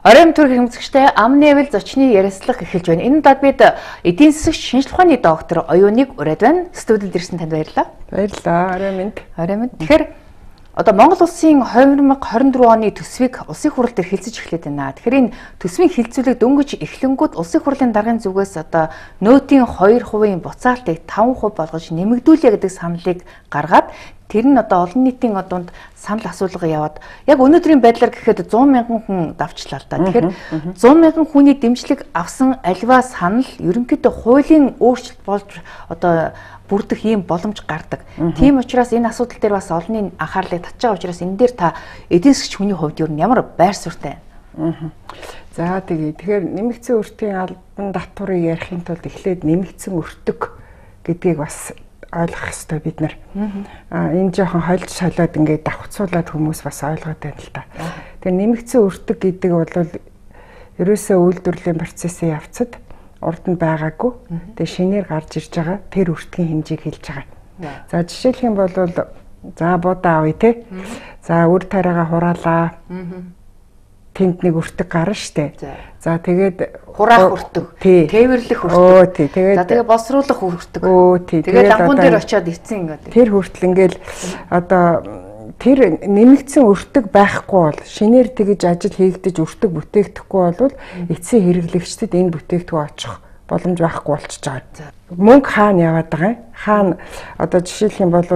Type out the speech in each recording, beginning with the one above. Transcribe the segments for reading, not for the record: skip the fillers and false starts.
Оройн төрх хэмжигчтэй амны эвэл зочны ярилцлага эхэлж байна. Энэ удаад бид эдийн засагч шинжилгээ ухааны доктор Оюуныг ураад байна. Студид ирсэн танд баярлалаа. Баярлалаа. Оройн минь. Тэгэхээр одоо Монгол улсын 2024 оны төсвийг улсын хурал дээр хэлцэж эхлэв байна. Тэгэхээр энэ төсвийн хэлцүүлэг дөнгөж эхлэнгүүд улсын хурлын даргын зүгээс одоо нөөтийн 2% буцаалтыг 5% болгож нэмэгдүүлье гэдэг саналыг гаргаад тэр нь одоо олон нийтийн одонд санал асуулга яваад яг өнөөдрийн байдлаар гэхэд 100 мянган хүн давчлаа л да. Тэгэхээр 100 мянган хүний дэмжлэг авсан альва санал ерөнхийдөө хуулийн өөрчлөлт болж одоо бүрдэх ийм боломж гардаг. Тийм учраас энэ асуудал дээр бас олонний анхаарлыг татж байгаа учраас энэ дээр та эдийн засгч хүний хувьд ер нь ямар байр суурьтай байна? За тэгэхээр нэмэгдсэн өртгийн албан татварыг ярихын тулд эхлээд нэмэгдсэн өртөг гэдгийг бас ойлгох хэрэгтэй бид нар. Энэ жоохон хольж шалаад ингээд давхцуулаад хүмүүс бас ойлгоод байна л та. Тэгэхээр нэмэгдсэн өртөг гэдэг бол ерөөсөө үйлдвэрлэлийн процессын явцад урд нь байгаагүй. Тэгээ шинээр гарч ирж байгаа тэр өртгийн хэмжээг хэлж байгаа. За жишээлх юм бол за будаа авъя те. За үр тариагаа хураалаа. Тэнд нэг өртөг гарна штэ. За тэгээд хураах өртөг, тээвэрлэх өртөг. За тэгээд боловсруулах өртөг. Тэгээд давгуун дээр очиод ицсэн ингээд. Тэр хүртэл ингээл одоо тэр нэмэгдсэн өртөг байхгүй бол шинээр тэгж ажил хийгдэж өртөг бүтээхдэггүй бол эцсийн хэрэглэгчдэд энэ бүтээгдэхүүн очих боломж байхгүй болчихж байгаа. Мөнгө хаана яваад байгаа юм? Хаана одоо жишээлх юм бол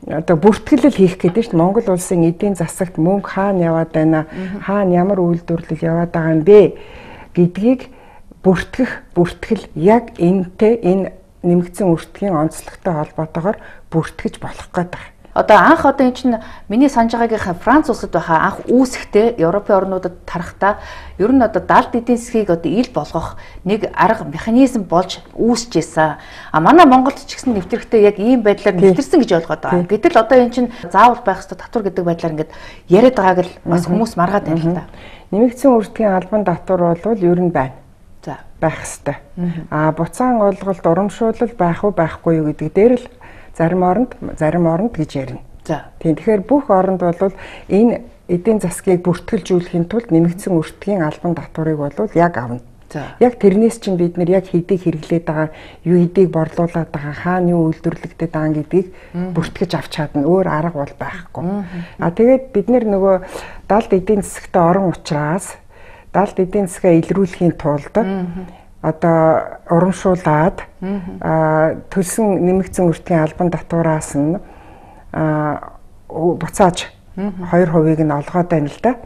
одоо бүртгэлэл хийх гэдэг чинь Монгол улсын эдийн засагт мөнгө хаана яваад байна? Хаана ямар үйлдвэрлэл яваад байгаа юм бэ гэдгийг бүртгэл яг энэтэй энэ нэмэгдсэн өртгийн онцлогтой холбоотойгоор бүртгэж болох гэдэг. Одоо анх энэ чинь миний санаж байгаагийн Франц улсад байхаа анх үүсэхдээ Европын орнуудад тарахтаа ер нь одоо далд эдийн засгийг одоо ил болгох нэг арга механизм болж үүсэж ийсэн. Манай Монголд ч гэсэн нэвтрэхдээ яг ийм байдлаар нэвтэрсэн гэж ойлгоод байгаа. Гэтэл одоо энэ чинь заавал байх ёстой татвар гэдэг байдлаар ингээд яриад байгааг л бас хүмүүс маргаад байна л да. Нэмэгдсэн өртгийн албан татвар бол ер нь байна. За байх ёстой. Буцаан олголт урамшуулал байх уу байхгүй юу гэдэг дээр л зарим оронд гэж ярина. За. Тийм. Тэгэхээр бүх оронд бол энэ эдийн засгийг бүртгэлжүүлэхийн тулд нэмэгдсэн өртгийн албан татварыг бол яг авна. Яг тэрнээс чинь бид нар яг хэдийг хэрэглээд байгаа, юу хэдийг борлуулад байгаа, хаана юу үйлдвэрлэгдээд байгаа гэдгийг бүртгэж авч чадна. Өөр арга бол байхгүй. Тэгээд бид нар нөгөө далд эдийн засагт орон учраас далд эдийн засгаа илрүүлэхийн тулд одоо урамшуулад төлсөн нэмэгдсэн өртгийн албан татвараас нь буцааж 2%-ыг нь олгоод байна л да.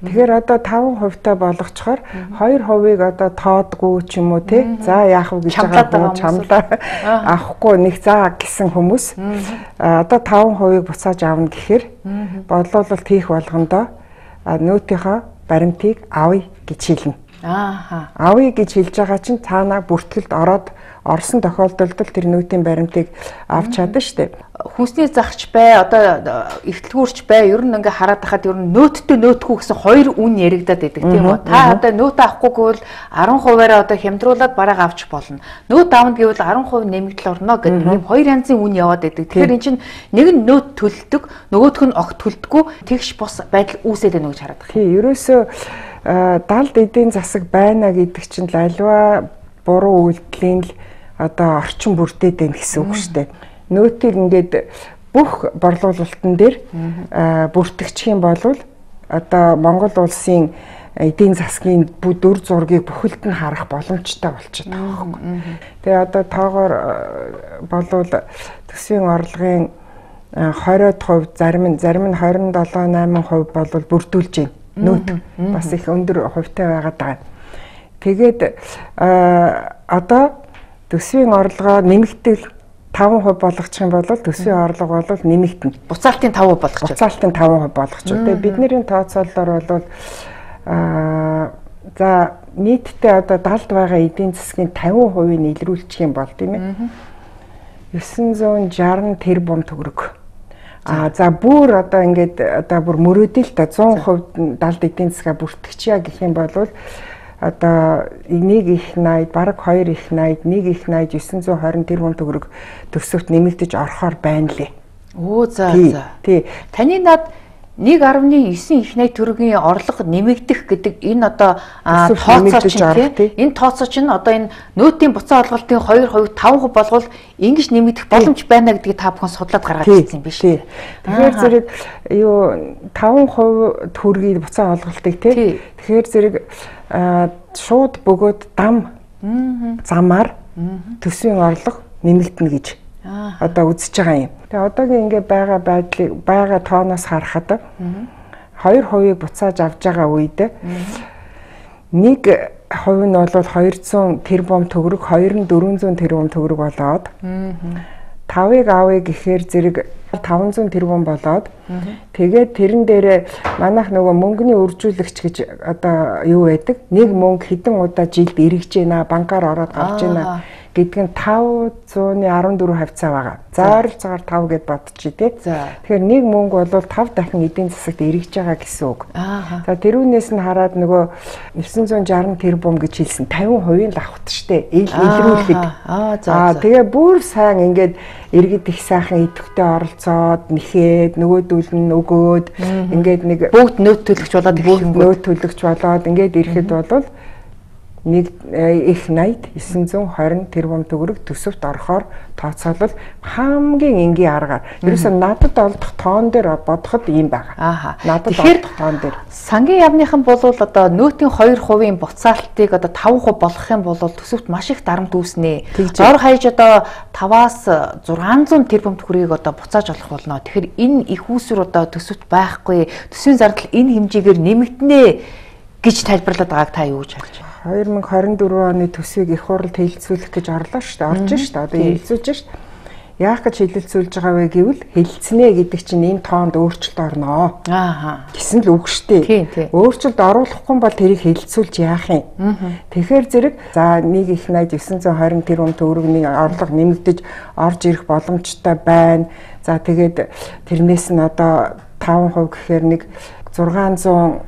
Тэгэхээр одоо 5% та болгочхоор 2%-ыг одоо тоодгүй ч юм уу те. За яах вэ гэж байгаа чамлаа авахгүй нэг заа гэсэн хүмүүс одоо 5%-ыг буцааж авна гэхээр бодлуулалт хийх болгондоо нөөтийнхөө баримтыг авъя гэж хэлнэ. Авъя гэж хэлж байгаа чинь цаанаа бүртгэлд орсон тохиолдолд тэр нөөтийн баримтыг авч чадна штэ. Хүнсний загч бай, одоо ихтлгүүрч бай, ер нь ингээ хараад тахад ер нь нөөттэй нөөтгүй гэсэн хоёр үн яригадаад байдаг тийм үү? Та одоо нөөт авахгүй гэвэл 10%-аараа одоо хямдруулаад бараг авч болно. Нөөт авна гэвэл 10% нэмэгдэл орно гэдэг ийм хоёр янзын үн яваад байдаг. Тэгэхээр эн чинь нэг нь нөөт төлдөг, нөгөөх нь огт төлдөггүй тэгш бос байдал үүсээд байна гэж хараад байна. Тий, ерөөсөө далд эдийн засаг байна гэдэг чинь альва буруу үйлдэлийн л одоо орчин бүрдээд байна гэсэн үг шүү дээ. Нөөтийг ингээд бүх борлуулалтын дээр бүртгэчих юм бол одоо Монгол улсын эдийн засгийн дүр зургийг бүхэлд нь харах боломжтой болчиход байгаа байхгүй. Тэгээ одоо тоогоор болвол төсвийн орлогын 20% зарим нь 27-8% болвол бүрдүүлж байна. Нөөт бас их өндөр хувьтай байгаад байгаа. Тэгээд одоо төсвийн орлогоо нэмэгдэл 5% болгочих юм бол төсвийн орлого бол нэмэгдэнэ. Буцаалтын 5% болгочих. Буцаалтын 5% болгочих. Тэгээд бидний тооцоололоор бол за нийтдээ одоо далд байгаа эдийн засгийн 50%-ийг илрүүлчих юм бол тийм ээ. 960 тэрбум төгрөг. За бүр одоо ингээд одоо бүр мөрөөдөл та 100% далд эдийн засгаа бүртгэчихье гэх юм бол одоо 1 их 80 бараг 2 их 80 1 их 80 920 тэрбум төгрөг төсөвт нэмэгдэж орохоор байна лээ. Оо за. Тий. Таны над 1.9 их найт төгрөгийн орлого нэмэгдэх гэдэг энэ одоо тооцоо чинь энэ тооцоо чинь одоо энэ нөөтийн буцаа олголтын 2%, 5% болгол ингэж нэмэгдэх боломж байна гэдгийг та бүхэн судлаад гаргаад ирсэн юм биш үү? Тэгэхээр зэрэг юу 5% төгрөгийн буцаа олголтыг тий. Тэгэхээр зэрэг шууд бөгөөд дам замаар төсвийн орлого нэмэгдэнэ гэж одоо үзэж байгаа юм. Тэгээ одоогийн ингээ байгаа байдлыг байгаа тооноос харахад 2% буцааж авж байгаа үед 1% нь бол 200 тэрбум төгрөг, 2 нь 400 тэрбум төгрөг болоод 5-ыг авъя гэхээр зэрэг 500 тэрбум болоод тэгээд тэрэн дээрээ манайх нөгөө мөнгөний үржүүлэгч гэж одоо юу байдаг? Нэг мөнгө хэдэн удаа жилд эргэж байна, банкаар ороод гарч байна гэдэг нь 514 хавцаа байгаа. За ойролцоогоор 5 гэд бодчих тий. Тэгэхээр нэг мөнгө бол 5 дахин эдийн засагт эргэж байгаа гэсэн үг. За тэрүүнээс нь хараад нөгөө 960 тэрбум гэж хэлсэн 50% л авахт штэ. Илрүүлэхэд. Тэгээ бүр сайн ингээд иргэд их сайхан идэвхтэй оролцоод нэхээд нөгөөдүүл нь өгөөд ингээд нэг бүгд нөөт төлөгч болоод нөөт төлөгч болоод ингээд ирэхэд бол нэг их найд 920 тэрбум төгрөг төсөвт орохоор тооцоолол хамгийн энгийн аргаар. Ерөөсөө надад олдох тоон дээр бодоход ийм байгаа. Надад олдох тоон дээр. Сангийн яамныхан бол одоо нөөтийн 2% буцаалтыг одоо 5% болгох юм бол төсөвт маш их дарамт үүснэ. Зор хаяж одоо 5-аас 600 тэрбум төгрөгийг одоо буцааж олох болно. Тэгэхээр энэ их үүсвэр одоо төсөвт байхгүй. Төсвийн зардал энэ хэмжээгээр нэмэгдэнэ гэж тайлбарлаад байгааг та юу гэж харж байна? 2024 оны төсвийг их хуралд хэлэлцүүлэх гэж орлоо шүү дээ. Орж шүү дээ. Одоо хэлэлцүүлж шүү дээ. Яах гэж хэлэлцүүлж байгаа вэ гэвэл хэлэлцэнэ гэдэг чинь энэ тоонд өөрчлөлт орноо. Гэсэн л үг шүү дээ. Өөрчлөлт оруулахгүй бол тэрийг хэлэлцүүлж яах юм? Тэгэхээр зэрэг за нэг их найд 920 тэрбум төгрөгийн орлого нэмэгдэж орж ирэх боломжтой байна. За тэгээд тэрнээс нь одоо 5% гэхээр нэг 600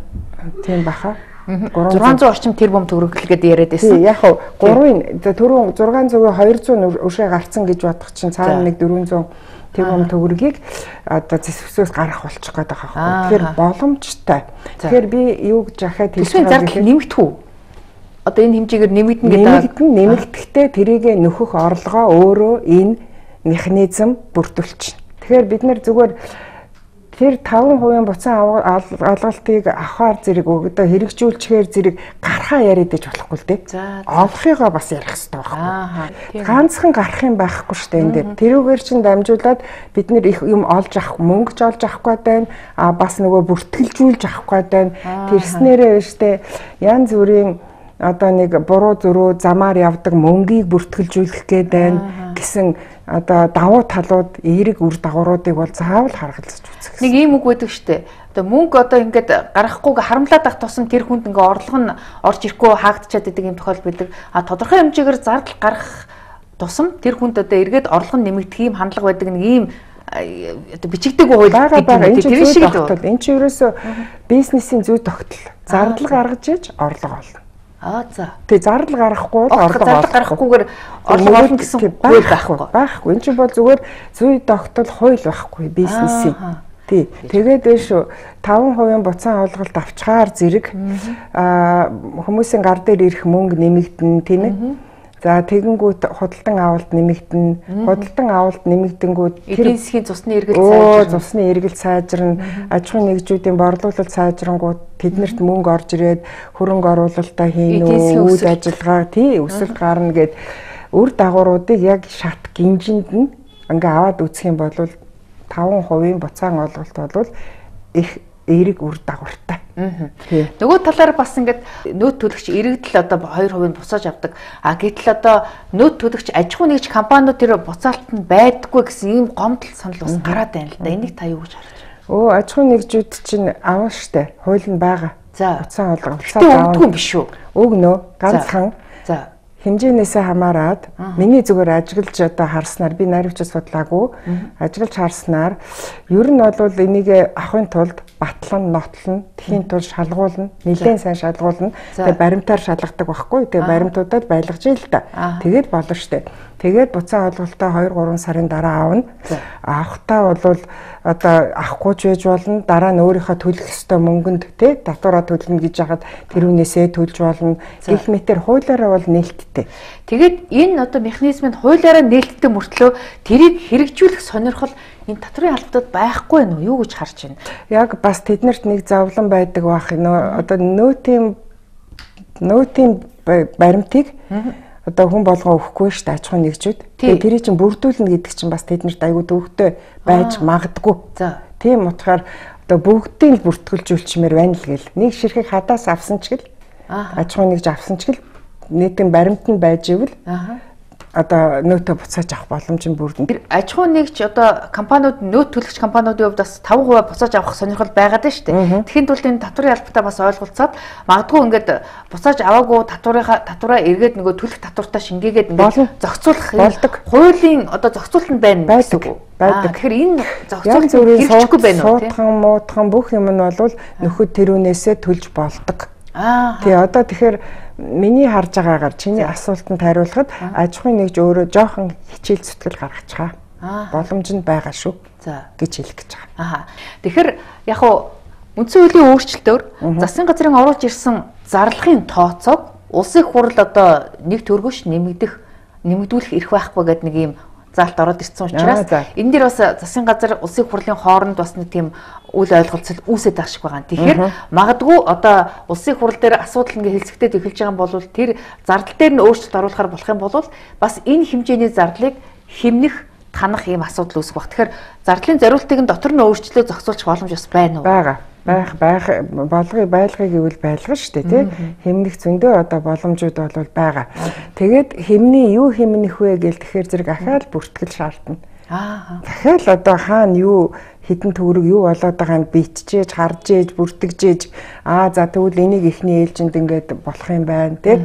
тийм баха. 600 орчим тэрбум төгрөг гэдэг яриад байсан. Яг хөө 3-ын түрүүн 600-ыг 200 өршөө гарцсан гэж бодох чинь цаана нэг 400 тэрбум төгрөгийг одоо зэвсгээс гарах болчих гээд байгаа байхгүй. Тэгэхээр боломжтой. Тэгэхээр би юу гэж яхад хэлж байгаа зардал нэмэгдэх үү? Одоо энэ хэмжээгээр нэмэгдэнэ гэдэг. Нэмэгдэхдээ тэрийг нөхөх орлогоо өөрөө энэ механизм бүрдүүлчихнэ. Тэгэхээр бид нэр зүгээр тэр 5% буцаан олголтыг авахар зэрэг одоо хэрэгжүүлчихээр зэрэг гарахаа яриад иж болохгүй л дээ. Олохыгоо бас ярих хэрэгтэй байхгүй. Ганцхан гарах юм байхгүй шүү дээ энэ дээр. Тэрүүгээр чинь дамжуулаад бид нэр их юм олж авах, мөнгөж олж авахгүй байна. Бас нөгөө бүртгэлжүүлж авахгүй байна. Тэрснээрээ штэ янз бүрийн одоо нэг буруу зөрүү замаар явдаг мөнгийг бүртгэлжүүлэх гээд байна гэсэн одоо давуу талууд эерэг үр дагавруудыг бол заавал харгалзаж үзэх. Нэг ийм үг байдаг штэ. Одоо мөнгө одоо ингээд гарахгүйг харамлаад ах тусам тэр хүнд ингээ орлого нь орж ирэхгүй хаагдчихад байдаг юм тохиол байдаг. Тодорхой хэмжээгээр зардал гарах тусам тэр хүнд одоо эргээд орлого нь нэмэгдэх ийм хандлага байдаг нэг ийм одоо бичигдээгүй хууль байгаа. Тэр шиг л байна. Энд чинь ерөөсөө бизнесийн зүй тогтол. Зардал гаргаж иж орлого олно. За. Тэг зардал гарахгүй бол орлого гарахгүйгээр орлого олно гэсэн хууль байхгүй. Байхгүй. Энэ чинь бол зүгээр зүй тогтол хууль байхгүй бизнесийн. Тий. Тэгээд шүү 5% буцаан олголт авчгаар зэрэг хүмүүсийн гар дээр ирэх мөнгө нэмэгдэн тийм ээ. За тэгэнгүүт худалдан авалт нэмэгдэн. Худалдан авалт нэмэгдэнгүүт эдийн засгийн цусны эргэлт сайжирна. Цусны эргэлт сайжирна. Аж ахуйн нэгжүүдийн борлуулалт сайжрангууд тэднэрт мөнгө орж ирээд хөрөнгө оруулалтаа хийн үү, үйл ажиллагаа өсөлт гарна гэд үр дагавруудыг яг шат гинжинд нь ингээ аваад үзэх юм бол 5% буцаан олголт бол их эерэг үр дагавартай. Нөгөө талаар бас ингээд нөөц төлөгч иргэдэл одоо 2% буцааж авдаг. Гэтэл одоо нөөц төлөгч аж ахуй нэгж компаниуд тэр буцаалт нь байдаггүй гэсэн ийм гомдол санал бас гараад байна л да. Энийг та юу гэж харж байна? Аж ахуй нэгжүүд чинь авна штэ. Хууль нь байгаа. За буцаан олголт өгдөггүй юм биш үү? Өгнө. Ганцхан. За хэмжээнээсээ хамаарат миний зүгээр ажиглаж одоо харснаар би найрамчид судлаагүй ажиглаж харснаар ер нь бол энийг авахын тулд батлан, нотлон, тхийн тул шалгуулна, нэлээд сайн шалгуулна. Тэгээ баримтаар шалгадаг байхгүй. Тэгээ баримтуудад байлгаж ийл та. Тэгээд болно штэ. Тэгээд буцаа олголтоо 2-3 сарын дараа аавна. Авахтаа бол одоо авахгүй ч байж болно. Дараа нь өөрийнхөө төлөх ёстой мөнгөнд тий татвараа төлнө гэж яхад тэрүүнээсээ төлж болно. Гэх мэтэр хуулиараа бол нээлттэй. Тэгээд энэ одоо механизмыг хуулиараа нээлттэй мөртлөө тэрийг хэрэгжүүлэх сонирхол энэ татврын албадад байхгүй нь юу гэж харж байна? Яг бас тэднэрт нэг зовлон байдаг баах. Одоо нөөтийн баримтыг одоо хүн болгоо өгөхгүй шүү дээ аж ахуйн нэгжүүд. Тэгээ тэрийг чинь бүрдүүлнэ гэдэг чинь бас тэднэрт аягүй төвөгтэй байж магадгүй. Тийм утгаар одоо бүгдийг л бүртгүүлжүүлчмээр байна л гэл. Нэг ширхэг хадаас авсан ч гэл аж ахуйн нэгж авсан ч гэл нийтийн баримт нь байж ивэл одоо нөөтө буцааж авах боломж нь бүрдэнэ. Аж ахуйн нэгж одоо компаниуд нөөт төлөгч компаниудын хувьд бас 5% буцааж авах сонирхол байгаад байна шүү дээ. Тэгэхэд бол энэ татврын албатаа бас ойлголцоод магадгүй ингээд буцааж аваагүй татвараа эргээд нөгөө төлөх татвартаа шингээгээд ингээд зохицуулах болдог. Хуулийн одоо зохицуулт нь байна байдаг. Тэгэхээр энэ зохицуулт хэрэгжихгүй байна уу? Суудхан, муудхан бүх юм нь бол нөхөд тэрүүнээсээ төлж болдог. Тий одоо тэгэхээр миний харж байгаагаар чиний асуултанд хариулахад аж ахуйн нэгж өөрөө жоохон хичээл зүтгэл гаргацгаа. Боломж нь байгаа шүү. Гэж хэлэх гэж байгаа. Тэгэхээр яг уу үндсэн хуулийн өөрчлөлтөөр засгийн газрын оруулж ирсэн зарлагын тооцоог улсын хурал одоо нэг төгрөгөш нэмэгдүүлэх эрх байхгүй гэдэг нэг юм заалт ороод ирсэн учраас энэ дээр бас засгийн газар улсын хурлын хооронд бас нэг тийм үйл ойлголцол үүсэж байгаа шиг байгаа. Тэгэхээр магадгүй одоо улсын хурал дээр асуудал ингээ хэлцэгдээд эхэлж байгаа юм бол тэр зардал дээр нь өөрчлөлт оруулахар болох юм бол бас энэ хэмжээний зардлыг хэмнэх танах ийм асуудал үүсэх баг. Тэгэхээр зардлын зориултыг нь дотор нь өөрчлөлөө зохицуулах боломж бас байна уу? Байх байлгыг гэвэл байлгана шүү дээ тий. Хэмнэх зөндөө одоо боломжууд бол байгаа. Тэгээд хэмний юу хэмнэх вэ гэл тэгэхээр зэрэг ахаал бүртгэл шаардна. Дахиад одоо хаана юу хідэн төгрөг юу болоод байгааг биччихээж, харж ээж, бүртгэжээж за тэгвэл энийг ихний ээлжинд ингээд болох юм байна тий.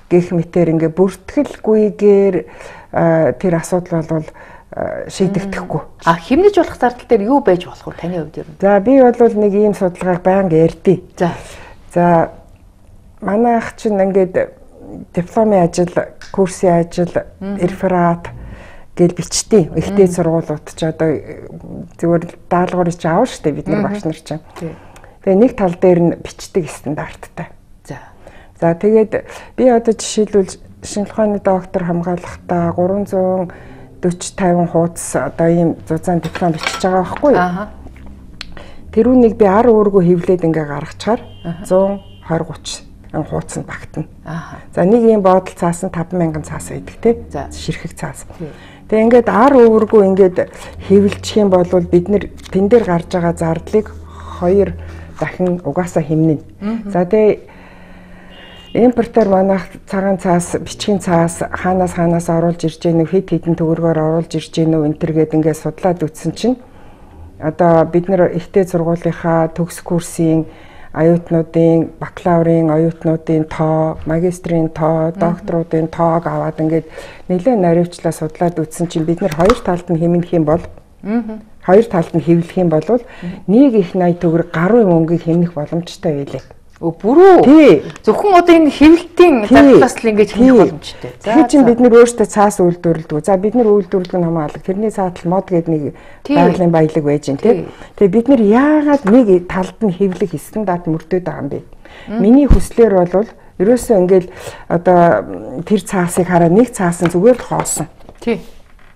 Гэх мэтэр ингээд бүртгэлгүйгээр тэр асуудал бол шийдэгдэхгүй. Хэмнэж болох зардал дээр юу байж болох вэ таны хувьд ер нь? За би бол нэг ийм судалгааг байнга ярьдیں۔ За манай ах чинь ингээд дипломын ажил, курсын ажил, реферат гэл бичтий. Ихтэй сургуулиуд ч одоо зүгээр даалгаврыг чи аав штэ бид нар багш нар чинь. Тэгээ нэг тал дээр нь бичдэг стандарттай. За тэгээд би одоо жишээлбэл шинжлэх ухааны доктор хамгаалахдаа 340-50 хуудас одоо ийм зузаан диплом бичиж байгаа байхгүй юу? Тэрүүнийг би 10 өөргөө хевлээд ингээ гаргачаар 120-30 хуудасанд багтана. За нэг ийм бодол цаас нь 50000 цаас байдаг тий. Ширхэг цаас. Тэгээ ингээд 10 өөргөө ингээд хевлчих юм бол бид нэр тэн дээр гарч байгаа зардлыг 2 дахин угаасаа хэмнэнэ. За тэгээ импортер манайх цагаан цаас, бичгийн цаас хаанаас оруулж ирж гэнэ, хэд хэдэн төгрөгөөр оруулж ирж гэнэ вэ энтергээд ингээд судлаад үзсэн чинь одоо бид нэр ихтэй сургуулийнхаа төгс курсын оюутнуудын, бакалаврын оюутнуудын тоо, магистрийн тоо, докторуудын тоог аваад ингээд нэлээд наривчлаа судлаад үзсэн чинь бид нэр хоёр талд нь хэмнэх юм бол хоёр талд нь хэвлэх юм бол нэг их 80 төгрөг гаруй мөнгийг хэмнэх боломжтой байлээ. Бүрүү. Зөвхөн одоо энэ хэвлэлтийн зардлаас л ингэж хэмнэх боломжтой. Тэгэхээр чинь бид нэр өөрсдөө цаас үйлдвэрлэдэг. За бид нэр үйлдвэрлэх нь хамаалаг. Тэрний цаатал мод гэдэг нэг байгалийн баялаг байж гэн тий. Тэгээ бид нэр яагаад нэг талд нь хэвлэх стандарт мөрдөд байгаа юм бэ? Миний хүслээр бол ерөөсөө ингээл одоо тэр цаасыг хараа нэг цаас нь зүгээр л хоосон. Тий.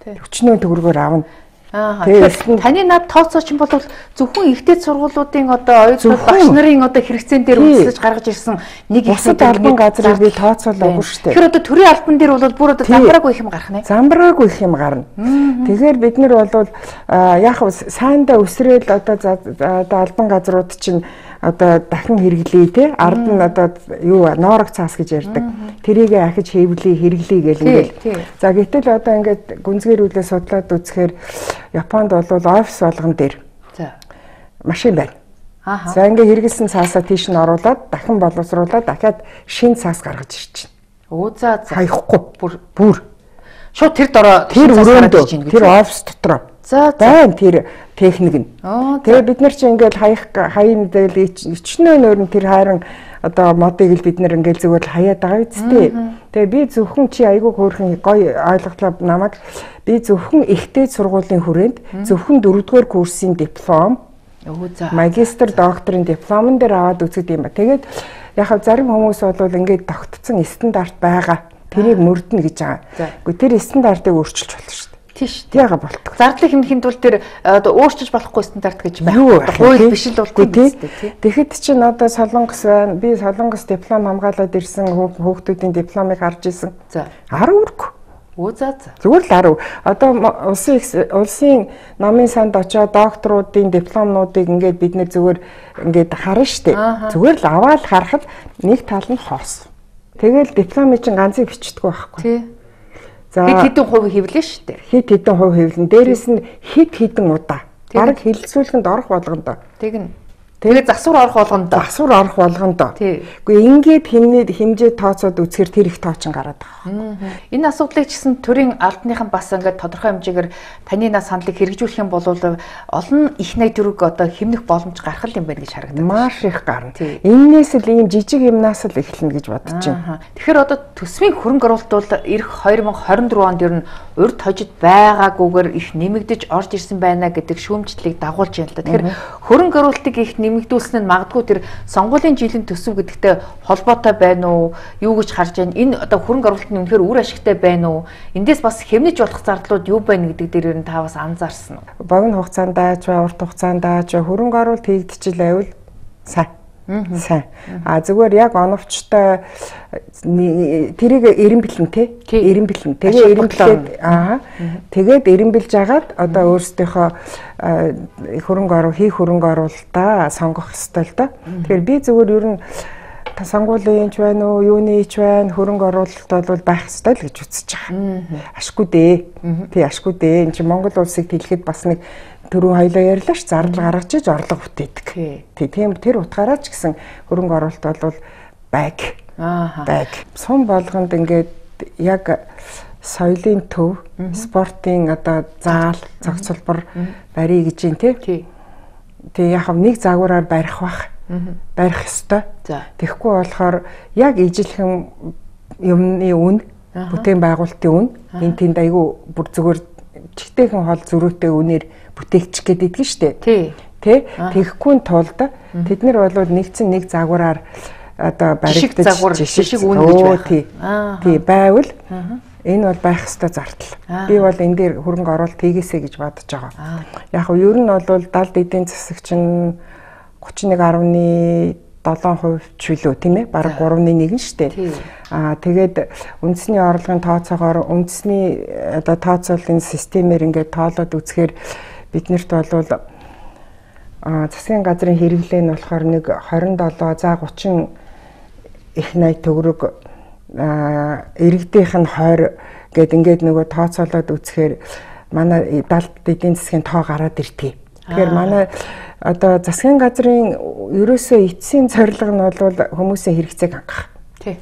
40 төгрөгөөр авна. Тэгэхээр таны над тооцооч юм бол зөвхөн ихтэй сургуулиудын одоо оюутнууд багш нарын одоо хэрэгцээн дээр үндэслэж гаргаж ирсэн нэг их албан газрыг би тооцоолоогүй шүү дээ. Тэгэхээр одоо төрийн албан дээр бол бүр одоо замбраагүй их юм гарах нэ. Замбраагүй их юм гарна. Тэгэхээр бид нар бол яг сайндаа өсрөөл одоо албан газрууд чинь одоо дахин хэрэглэе те ард нь одоо юу ноорог цаас гэж ярьдаг. Тэрийг ахиж хэвлэе, хэрэглэе гэл ингээл. За гэтэл одоо ингээд гүнзгийрүүлээ судлаад үзэхээр Японд бол офис болгон дээр машин байна. За ингээд хэрэгэлсэн цаасаа тийш нь оруулаад дахин боловсруулаад дахиад шинэ цаас гаргаж ирж байна. Хаяхгүй бүр шууд тэр дороо тэр өрөөндөө тэр офис дотроо. Байна тэр техник нь. Тэгээ бид нар чи ингээд хаян дээр ичнээ нөрн тэр хайран одоо модыг л бид нар ингээд зүгээр л хаяад байгаа үсттэй. Тэгээ би зөвхөн чи айгүй хөөрхөн гоё ойлголоо намайг би зөвхөн ихтэй сургуулийн хүрээнд зөвхөн 4-р курсын диплом магистр докторийн дипломн дээр аваад үздэг юм ба. Тэгээд яг зарим хүмүүс бол ингээд тогтцсон стандарт байгаа. Тэрийг мөрднө гэж байгаа. Гэхдээ тэр стандартыг өөрчилж болно шүү дээ. Тийш. Яага болтго. Зардлыг хэмнэхийн тулд тэр одоо өөрчилж болохгүй стандарт гэж байна. Хууль биш л болтго тийм. Тэгэхэд чинь одоо Солонгос байна. Би Солонгос диплом хамгаалаад ирсэн хүүхдүүдийн дипломыг харж исэн. За. 10 үрг. Зүгээр л 10. Одоо улсын намын санд очоод докторуудын дипломнуудыг ингээд бид нэр зүгээр ингээд харна штэ. Зүгээр л аваад харахад нэг тал нь хоос. Тэгэл дипломын чинь ганцыг бичдэггүй байхгүй. Тий. За хэд хэдэн хувь хэвлэн шүү дээ. Хэд хэдэн хувь хэвлэн. Дээрээс нь хэд хэдэн удаа. Бараг хэлэлцүүлэхэнд орох болгондоо. Тэгнь. Тэгээд засвар орох болгондоо. Засвар орох болгондоо. Үгүй ингээд хэмжээ тооцоод үзэхэр тэр их тоочин гараад байгаа. Энэ асуудлыг ч гэсэн төрийн албаныхан бас ингээд тодорхой хэмжээгээр таны нас саналыг хэрэгжүүлэх юм бол олон их найд төрөг одоо хэмнэх боломж гарах юм байна гэж харагдав. Маш их гарна. Эннээс л ийм жижиг юмнаас л эхэлнэ гэж бодож байна. Тэгэхээр одоо төсвийн хөрөнгө оруулалт бол эх 2024 онд ер нь урд хожид байгаагүйгээр их нэмэгдэж орж ирсэн байна гэдэг шүүмжлэлийг дагуулж байна л да. Тэгэхээр хөрөнгө оруулалтыг их нэмэгдүүлсэн нь магадгүй тэр сонгуулийн жилийн төсөв гэдэгтэй холбоотой байна уу? Юу гэж харж байна? Энэ одоо хөрөнгө оруулалт нь үнэхээр үр ашигтай байна уу? Эндээс бас хэмнэж болох зардлууд юу байна гэдэг дээр ер нь та бас анзаарсан уу? Богино хугацаанд ч урт хугацаанд ч хөрөнгө оруулалт хийгдчихвэл сайн. Сайн. Зүгээр яг оновчтой тэрийг эрен бэлэн те. Эрен бэлэн. Тэгээ эрен бэлээд тэгээд эрен бэлж агаад одоо өөрсдийнхөө хөрөнгө оруулалтаа сонгох ёстой л да. Тэгэхээр би зүгээр ер нь сонгуулийн ч байна уу, юуны ч байна, хөрөнгө оруулалт бол байх ёстой л гэж үзэж байгаа. Ашгүй дээ. Тий, ашгүй дээ. Энд чинь Монгол улсыг хэлэхэд бас нэг түрүү хоёлоо ярьлаа ш зардал гаргаж иж орлого бүтээдэг. Тийм тэр утгаараа ч гэсэн хөрөнгө оруулалт бол байг. Сум болгонд ингээд яг соёлын төв, спортын одоо заал, цогцлбор барий гэж юм тий. Тэгээ яг нэг загвараар барих бах. Барих ёстой. Тэгэхгүй болохоор яг ижилхэн юмны үн, бүтээн байгуулалтын үн энэ тэнд айгүй бүр зүгээр чигтэйхэн хол зөрүүтэй үнээр бүтээгч гэдэг нь штэ. Тий. Тэгэхгүй тулд тэд нар бол нэгцэн нэг загвараар одоо баригдаж жишг үн гэж байх. Тий байвал энэ бол байх ёстой зардал. Би бол энэ дээр хөрөнгө оруулалт хийгээсэй гэж бодож байгаа. Яг нь ер нь бол далд эдийн засаг чинь 31.7% чөлөө тийм ээ бараг 3.1 штэ. Тэгээд үндэсний орлогын тооцоогоор үндэсний одоо тооцоолын системээр ингээд тоолоод үзэхээр биднэрт бол засгийн газрын хэрэглээ нь болохоор нэг 27 за 30 их найт төгрөг иргэдийнх нь 20 гэд ингээд нөгөө тооцоолоод үзэхээр манай далд эдийн засгийн тоо гараад иртгий. Тэгэхээр манай одоо засгийн газрын ерөөсөө эцсийн зорилго нь бол хүмүүсийн хэрэгцээг хангах. Тий.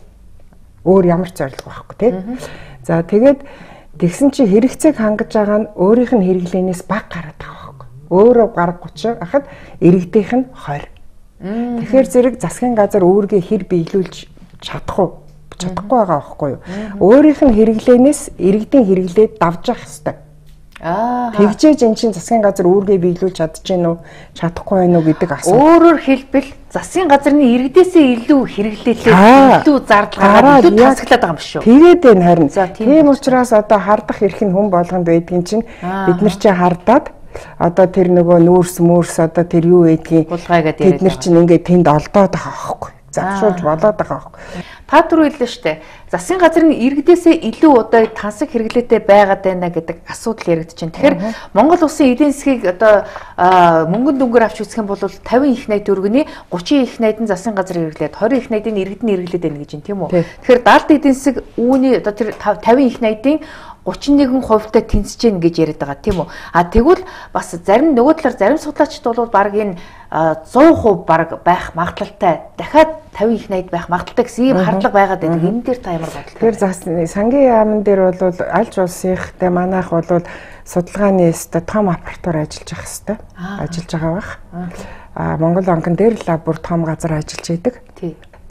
Өөр ямар ч зорилго байхгүй тий. За тэгээд тэгсэн чи хэрэгцээг хангаж байгаа нь өөрийнх нь хэрэглэнээс бага гараад байгаа байхгүй. Өөрөө гараг 30 ахад иргэдийнх нь 20. Тэгэхээр зэрэг засгийн газар өөргөө хэр биелүүлж чадахгүй байгаа байхгүй юу? Өөрийнх нь хэрэглэнээс иргэдийн хэрэглээд давж явах хэрэгтэй. Тэгжээж эн чинь засгийн газар үүргээ биелүүлж чадчихэв үү, чадахгүй байна уу гэдэг асуулт. Өөрөөр хэлбэл засгийн газрын иргэдээсээ илүү хэрэглээлээ илүү зардал гараад илүү тасаглаад байгаа юм шүү. Тэгээд энэ харин тийм учраас одоо хардах эрх нь хүн болгонд байдгийн чинь бид нар чи хардаад одоо тэр нөгөө нүүрс одоо тэр юу байдгийг бид нар чинь ингээд тэнд олдоод байгаа байхгүй. Завшуулж болоод байгаа байхгүй. Та түрүү хэллээ шүү дээ. Засгийн газрын иргэдээсээ илүү удаа тансаг хэрэглээтэй байгаад байна гэдэг асуудал яригдж байна. Тэгэхээр Монгол улсын эдийн засгийг одоо мөнгөн дүнгээр авч үзэх юм бол 50 их найд төгрөгийн 30 их найд нь засгийн газрын хэрэглээд 20 их найдын иргэд нь хэрэглээд байна гэж байна тийм үү? Тэгэхээр далд эдийн засаг үүний одоо тэр 50 их найдын 31%-тай тэнцэж гин гэж яриад байгаа тийм үү? Тэгвэл бас зарим нөгөө талаар зарим судлаачид бол баг энэ 100% баг байх магадлалтай дахиад 50-80 байх магадлалтай гэсэн ийм хардлага байгаад байдаг. Энэ дээр та ямар бодлоо? Тэгэхээр сангийн яамн дээр бол аль улсынхтай манайх бол судалгааны өстө том аппаратур ажиллаж явах хэвээр ажиллаж байгаа бах. Монгол банкн дээр л бүр том газар ажиллаж идэг.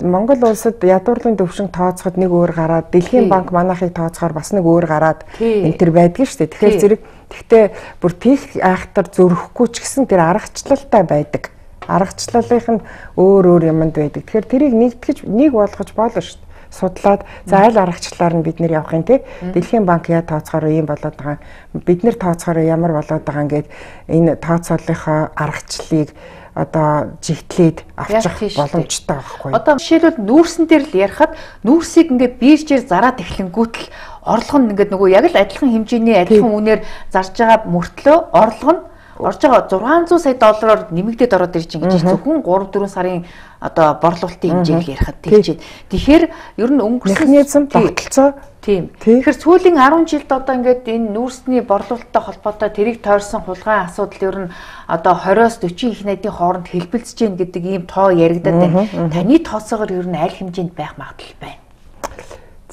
Монгол улсад ядуурлын төвшин тооцоход нэг өөр гараад Дэлхийн банк манайхыг тооцохоор бас нэг өөр гараад энэ төр байдаг шүү дээ. Тэгэхээр зэрэг тэгтээ бүр тийх айхтар зөрөхгүй ч гэсэн тэр аргачлалтай байдаг. Аргачлалынх нь өөр юмд байдаг. Тэгэхээр тэрийг нэг болгож болно шүү дээ. Судлаад за аль аргачлалаар нь бид нэр явах юм те. Дэлхийн банк яа тооцохоор ийм болоод байгаа. Бид нэр тооцохоор ямар болоод байгаа ингээд энэ тооцооллынхоо аргачлалыг одоо жигтлээд авчих боломжтой байхгүй. Одоо жишээлбэл нүүрсэн дээр л ярихад нүүрсийг ингээд биржээр зараад эхлэнгүүт л орлого нь ингээд нөгөө яг л адилхан хэмжээний адилхан үнээр зарж байгаа мөртлөө орлого нь орж байгаа 600 сая доллараар нэмэгдээд ороод ирж байгаа гэж зөвхөн 3-4 сарын одоо борлуулалтын хэмжээг ярихад тэгж байна. Тэгэхээр ер нь өнгөрсөн механизм тогтолцоо тийм. Тэгэхээр сүүлийн 10 жилд одоо ингээд энэ нүүрсний борлуулалттай холбоотой тэрийг тойрсон хулгайн асуудал ер нь одоо 20-оос 40 их найдын хооронд хэлбэлцэж гин гэдэг ийм тоо яригадаад байна. Таны тооцоогоор ер нь аль хэмжээнд байх магадлал байна?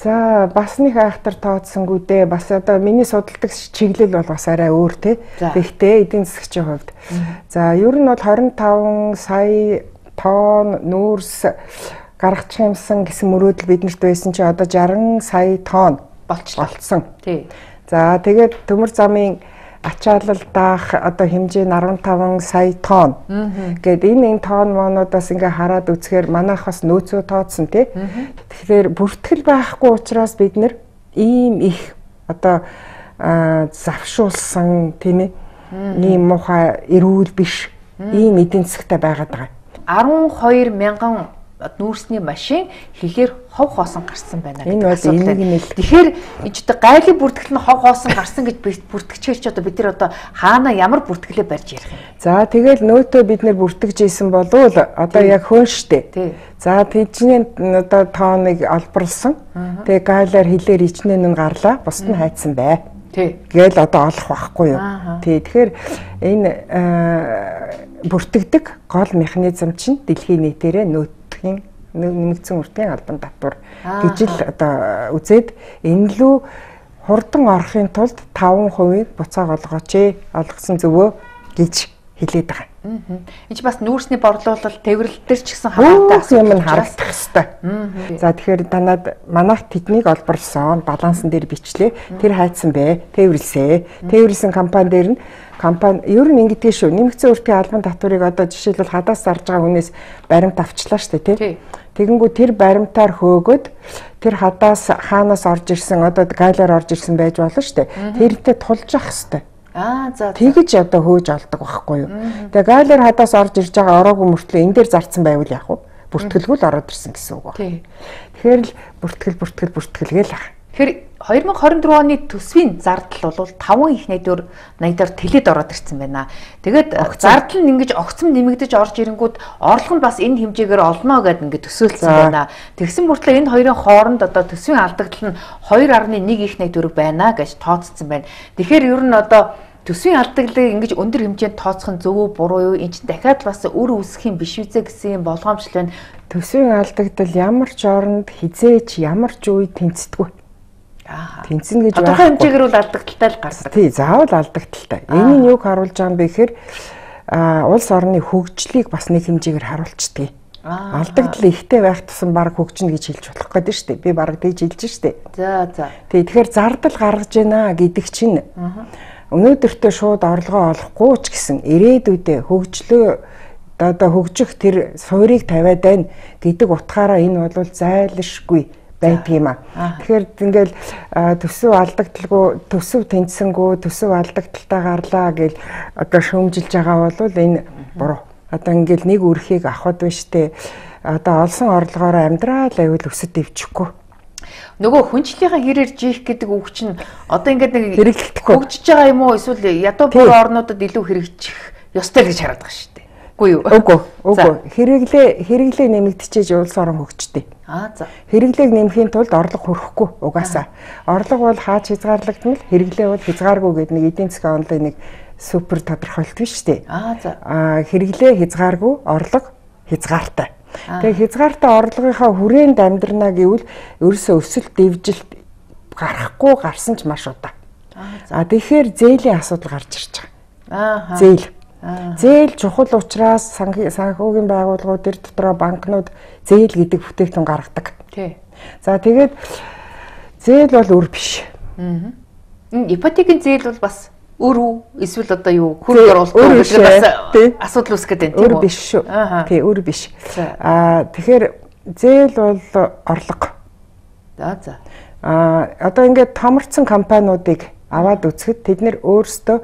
За бас нэг айхтар тооцсонгүй дээ. Бас одоо миний судалдаг чиглэл бол бас арай өөр те. Гэхдээ эдийн засгийн хувьд. За ер нь бол 25 сая тонн нүүрс гаргачих юмсан гэсэн мөрөөдөл биднэрт байсан чи одоо 60 сая тонн болцсон. Тий. За тэгээд төмөр замын ачаалал даах одоо хэмжээ нь 15 сая тонн. Гэт энэ тонн монуудаас ингээ хараад үзэхээр манайх бас нөөцөө тооцсон тий. Тэгэхээр бүртгэл байхгүй учраас бид нэр ийм их одоо завшуулсан тийм ээ. Ийм муухай эрүүл биш ийм эдийн засгтай байгаад байгаа. 12 мянган нүүрсний машин хилээр хов хоосон гарсан байна гэдэг асуудал. Тэгэхээр энэ ч гайлын бүртгэл нь хов хоосон гарсан гэж бүртгэгчээр ч одоо бид нар одоо хаана ямар бүртгэлээ барьж ярих юм. За тэгэл нөөтөө бид нэр бүртгэж ийсэн болвол одоо яг хөөн штэ. За тэдний одоо тооныг олборлсон. Тэгээ гайлаар хилээр ичнэн нь гарлаа. Бусд нь хайцсан бай. Гээл одоо олох байхгүй юу. Тэгэхээр энэ бүртгэдэг гол механизм чинь дэлхийн нийтээрээ нөөтийн нэмэгдсэн үртийн албан татвар гэж л одоо үзээд энэ лүү хурдан орохын тулд 5% буцааг олгооч олгосон зөвөө гэж хэлээд байгаа. Энд бас нүүрсний борлуулалт тээвэрлэл төр ч гэсэн хамаатай асуулт юм харагдах хэвээр. За тэгэхээр танад манайх тэднийг олборлсон балансан дээр бичлээ. Тэр хайцсан бэ? Тээвэрлсэ. Тээвэрлсэн компани дээр нь компани ер нь ингэдэг шүү. Нэмэгдсэн үртийн албан татварыг одоо жишээлбэл хадаас зарж байгаа хүнээс баримт авчлаа шүү дээ, тий. Тэгэнгүү тэр баримтаар хөөгөөд тэр хадаас хаанаас орж ирсэн одоо гайлаар орж ирсэн байж болно шүү дээ. Тэрнтэй тулж явах хэвээр. За тэгэж одоо хөөж олдог байхгүй юу. Тэгээ гайлаар хадаас орж ирж байгаа ороогүй мөртлөө энэ дээр зарцсан байвал яах вэ? Бүртгэлгүй л ороод ирсэн гэсэн үг байна. Тэгэхээр л бүртгэл гээл ах. Тэгэхээр 2024 оны төсвийн зардал бол 5 их найдаар тэлээд ороод ирсэн байна. Тэгээд зардал нь ингэж огцом нэмэгдэж орж ирэнгүүт орлого нь бас энэ хэмжээгээр олно гэдээ ингэ төсөөлсөн байна. Тэгсэн мөртлөө энэ хоёрын хооронд одоо төсвийн алдагдал нь 2.1 их найдвар байна гэж тооцсон байна. Тэгэхээр ер нь одоо төсвийн алдаглыг ингэж өндөр хэмжээнд тооцох нь зөв үү буруу юу? Энд чинь дахиад бас үр үүсэх юм биш үү гэсэн болгоомжтой байна. Төсвийн алдагдал ямар ч оронд хизээч ямар ч үе тэнцдэггүй. Тэнцэн гэж тодорхой хэмжээгээр бол алдагдaltaй л гарсан. Тий, заавал алдагдaltaй. Энэ нь юг харуулж байгаа юм бэ гэхээр улс орны хөгжлийг бас нэг хэмжээгээр харуулцдаг. Алдагдал ихтэй байх тусам баг хөгжинэ гэж хэлж болох гэдэг шүү дээ. Би баг тэгж хэлж штэ. За. Тий, тэгэхээр зардал гаргаж байна гэдэг чинь өнөөдөртөө шууд орлогоо олохгүй ч гэсэн ирээдүйдээ хөгжлөө одоо хөгжих тэр суурийг тавиад байна гэдэг утгаараа энэ бол зайлшгүй байдаг юм аа. Тэгэхээр ингээл төсөв алдагдaltaгүй, төсөв тэнцсэнгүү, төсөв алдагдaltaй гарлаа гэл одоо шөөмжилж байгаа бол энэ буруу. Одоо ингээл нэг үрхийг авахд биш те. Одоо олсон орлогоороо амьдрал аюул өсөд дэвчихгүй. Нөгөө хүнчлийнхаа хэрээр жийх гэдэг үг чинь одоо ингээд нэг хэрэглэхгүй хөгжиж байгаа юм уу эсвэл ядуу бүр орнуудад илүү хэрэгжих ёстой гэж хараад байгаа шүү дээ. Үгүй юу? Үгүй. Хэрэглээ нэмэгдчихэж улс орон хөгждөг. За. Хэрэглээг нэмэхийн тулд орлого хүрэхгүй угаасаа. Орлого бол хаач хязгаарлагдмал, хэрэглээ бол хязгааргүй гэдэг нэг эдийн засгийн онлын нэг супер тодорхойлт биш үү? За. Хэрэглээ хязгааргүй, орлого хязгаартай. Тэгээ хязгаартай орлогынхаа хүрээнд амьдрнаа гэвэл ерөөсөө өсөлт дэвжилт гарахгүй гарсан ч маш удаа. Тэгэхээр зээлийн асуудал гарч ирж байгаа. Зээл. Зээл чухал учраас санхүүгийн байгууллагууд төр дотроо банкнууд зээл гэдэг бүтээгдэхүүн гаргадаг. Тий. За тэгээд зээл бол үр биш. Ипотекийн зээл бол бас өр үү? Эсвэл одоо юу? Хөрөнгө оруулалт гэдэг бас асуудал үүсгэж байна тийм үү? Өр биш шүү. Тий, өр биш. Тэгэхээр зээл бол орлого. За. Одоо ингээд томорцсон компаниудыг аваад үзэхэд тэд нэр өөрсдөө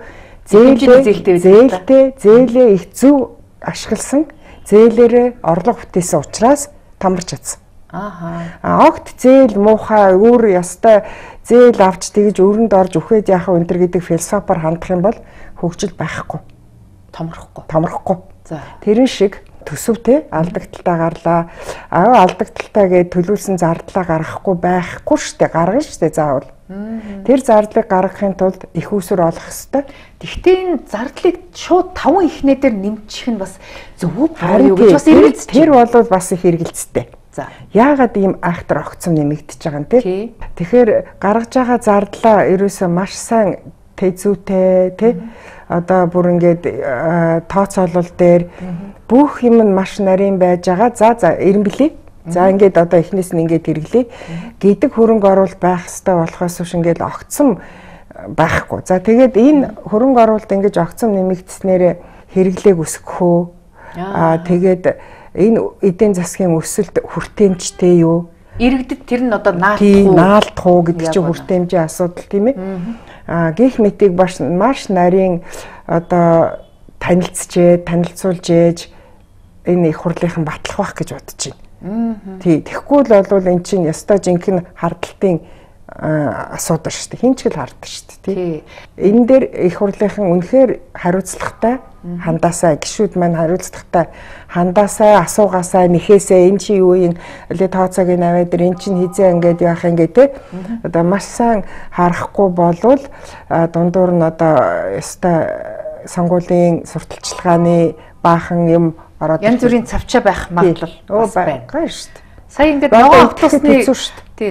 зээлээ их зөв ашигласан, зээлээрээ орлого бүтээсэн учраас томорч чадсан. Огт зээл муухай өөр ястай зээл авч тэгж өрөнд орж үхээд яах вэ энэ гэдэг философоор хандах юм бол хөгжил байхгүй. Томрохгүй. За. Тэрэн шиг төсөвтэй алдагдaltaа гарлаа. Алдагдaltaа гэж төлүүлсэн зардлаа гаргахгүй байхгүй штэ, гаргана штэ заавал. Тэр зардлыг гаргахын тулд их усүр олох ёстой. Гэхдээ энэ зардлыг шууд 5 ихнээ дээр нэмчих нь бас зөв үү гэж бас эргэлзэж. Тэр бол бас их эргэлзтэй. За. Яагаад ийм айхтар огцом нэмэгдэж байгаа юм те? Тэгэхээр гаргаж байгаа зардлаа ерөөсөө маш сайн тэзүүтэй тий. Одоо бүр ингээд тооцоолол дээр бүх юм нь маш нарийн байж байгаа. За эренблээ. За ингээд одоо эхнээс нь ингээд хэрэглэе гэдэг хөрөнгө оруулалт байх хэрэгтэй болохоос биш ингээд огцом байхгүй. За тэгээд энэ хөрөнгө оруулалт ингээд огцом нэмэгдснээр хэрэглээг өсгөхөө. Тэгээд энэ эдийн засгийн өсөлт хүртээмжтэй юу? Иргэдэд тэр нь одоо наалдах уу гэдэг чинь хүртээмжийн асуудал тийм ээ. Гэх мэтийг маш нарийн одоо танилцуулж ээж энэ их хурлынхан батлах байх гэж бодож байна. Тий, тэгэхгүй л бол эн чинь ястай жинхэнэ хардталтын асуудал шүү дээ. Хин ч гэл харддаг шүү дээ, тий. Энэ дээр их хурлынхан үнэхээр хариуцлагатай хандаасаа гişүүд маань хариуцлагатай хандаасаа асуугаасаа нэхээсээ эн чи юу юм лээ тооцоог наваад эн чин хизээ ингээд яах юм гээ те. Одоо маш сайн харахгүй болвол дундуур нь одоо ястай сонгуулийн сурталчилгааны баахан юм янз бүрийн цавчаа байх магадлал байна шүү дээ. Сая ингээд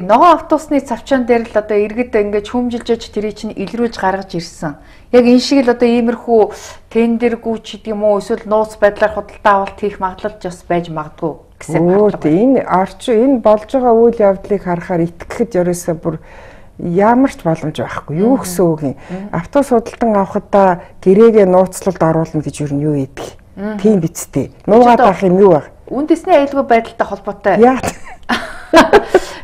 ногоон автобусны цавчаан дээр л одоо иргэд ингээд хүмжилж тэрий чинь илрүүлж гаргаж ирсэн. Яг энэ шиг л одоо иймэрхүү тендергүй ч гэдэг юм уу эсвэл нууц байдлаар худалдаа авалт хийх магадлал бас байж магадгүй гэсэн бодлого. Энэ болж байгаа үйл явдлыг харахаар итгэхэд ерөөсөө бүр ямар ч боломж байхгүй. Юу гэсэн үг юм. Автобус худалдан авахдаа гэрээгээ нууцлалд оруулна гэж юу юу яддаг. Тийм бицтэй. Нуугаад авах юм юу вэ? Үндэсний аюулгүй байдалтай холбоотой. Яа.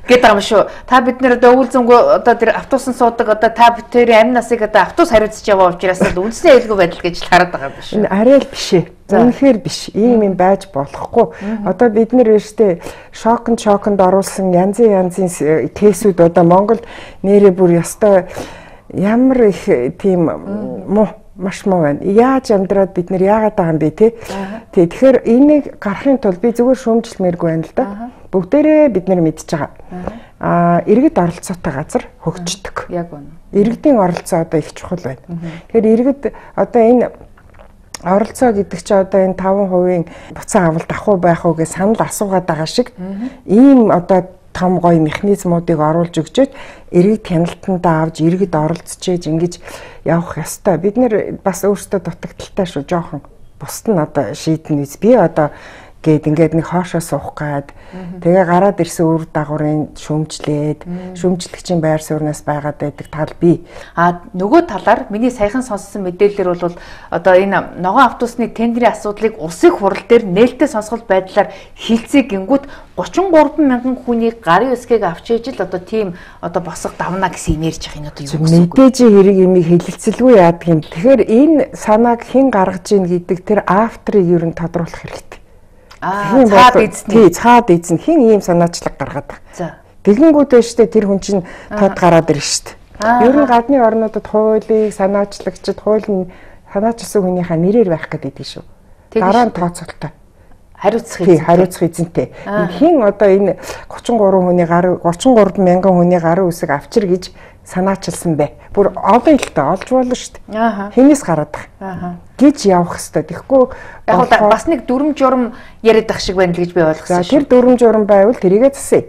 Гэдэг юм шүү. Та бид нэр одоо өвөлзөнгөө одоо тэр автобусан суудаг одоо та бүтээрийн амь насыг одоо автобус хариуцж яваа учраас л үндэсний аюулгүй байдал гэж л хараад байгаа юм шүү. Энэ арай л биш ээ. Үнэхээр биш. Ийм юм байж болохгүй. Одоо бид нэр өөртөө шоконд оруулсан янзын кейсүүд одоо Монголд нэрээ бүр ёстой ямар их тийм маш муу байна. Яаж амьдраад бид нэр яагаад байгаа юм бэ те? Тэгэхээр энийг гарахын тулд би зүгээр шүүмжлэмээргүй байна л да. Бүгдээрээ бид нэр мэдж байгаа. Иргэд оролцоотой газар хөгждөг. Яг үнэ. Иргэдийн оролцоо одоо их чухал байна. Тэгэхээр иргэд одоо энэ оролцоо гэдэг чинь одоо энэ 5% буцаа авалт ах уу байх уу гэж санал асуугаад байгаа шиг ийм одоо том гоё механизмуудыг оруулж өгчөөд иргэд хяналтандаа авч иргэд оролцож ингэж явах ёстой. Бид нэр бас өөрсдөө дутагдaltaй шүү жоохон. Бусд нь одоо шийдэн үз. Би одоо ингээд нэг хоошоо суух гад тэгээ гараад ирсэн үр дагаврын шүүмжлэгчийн байр сууриас байгаад байдаг тал бий. Нөгөө талаар миний саяхан сонссон мэдээлэлэр бол одоо энэ ногоон автобусны тендерийн асуудлыг улсын хурал дээр нээлттэй сонсголт байдлаар хилцээ гингүүд 33 мянган хүний гарын үсгийг авч ээж л одоо тийм одоо босго давна гэсэн юм ярьж байгаа юм одоо юу гэсэн үг. Мэдээж хэрэг имийг хэлэлцэлгүй яадаг юм. Тэгэхээр энэ санааг хэн гаргаж ийн гэдэг тэр авторыг ер нь тодруулах хэрэгтэй. Цаад эзэн хин ийм санаачлаг гаргаад байгаа. Тэгэнгүүтээ штэ тэр хүн чинь тод гараад ирнэ штэ. Ер нь гадны орнуудад хуулийг санаачлагчид хууль нь санаачилсан хүнийхээ нэрээр байх гэдэг шүү. Дараа нь тооцоолтой. хариуцах эзэнтэй. Хин одоо энэ 33 мянган хүний гарын үсэг авчир гэж санаачилсан бай. Бүр олон илтэй олж болно шүү дээ. Хинээс гараад байгаа. Гэж явах хэвээр. Тэгэхгүй яг бас нэг дүрм журм яриад ах шиг байна л гэж би ойлгосон шүү. Тэр дүрм журм байвал тэрийгээ засъя.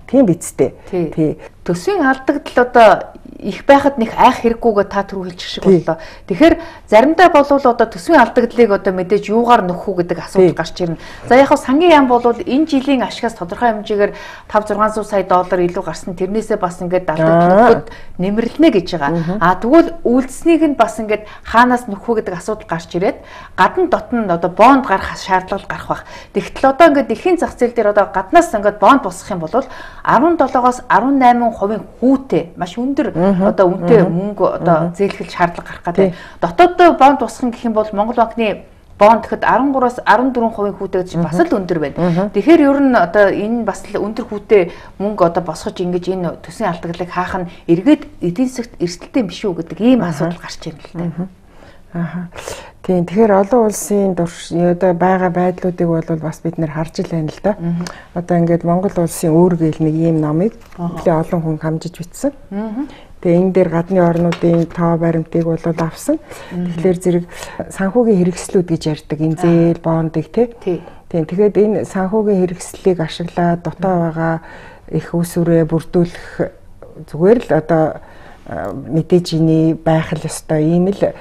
Тийм бицтэй. Тий. Төсвийн алдагдал одоо их байхад нэг айх хэрэггүйгээ та түрүү хэлчих шиг боллоо. Тэгэхээр заримдаа болвол одоо төсвийн алдагдлыг одоо мэдээж юугаар нөхөх үү гэдэг асуудал гарч ирнэ. За яг хав сангийн яам болвол энэ жилийн ашигаас тодорхой хэмжээгээр 5-600 сая доллар илүү гарсан. Тэрнээсээ бас ингээд алдагдлууд нэмэрлэнэ гэж байгаа. Тэгвэл үйлдсэнийг нь бас ингээд хаанаас нөхөх үү гэдэг асуудал гарч ирээд гадна дотн одоо бонд гарах шаардлага гарах бах. Тэгтэл одоо ингээд эхийн зах зээл дээр одоо гаднаас ингээд бонд босгох юм бол 17-оос 18% хүүтэй маш өндөр одоо үнэтэй мөнгө одоо зээлхэл шаардлага гарах гэдэг. Дотооддоо бонд босгох гэх юм бол Монгол банкны бонд гэхэд 13-аас 14% хүүтэй гэж бас л өндөр байна. Тэгэхээр ер нь одоо энэ бас л өндөр хүүтэй мөнгө одоо босгож ингэж энэ төсвийн алдагдлыг хаах нь эргээд эдийн засгт эрсдэлтэй биш үү гэдэг ийм асуудал гарч ирнэ л дээ. Тийм. Тэгэхээр олон улсын одоо байгаа байдлуудыг бол бас бид нэр харж ил байна л да. Одоо ингээд Монгол улсын үүргээл нэг ийм номыг нэлээд олон хүн хамжиж бичсэн. Тэгээ энэ дээр гадны орнуудын тоо баримтыг бол авсан. Тэгэхээр зэрэг санхүүгийн хэрэгслүүд гэж ярьдаг. Энэ зээл, бондыг тийм. Тэгэхээр энэ санхүүгийн хэрэгслийг ашиглаад дутаа байгаа их усүрээ бүрдүүлэх зүгээр л одоо мэдээж иний байх л ёстой ийм л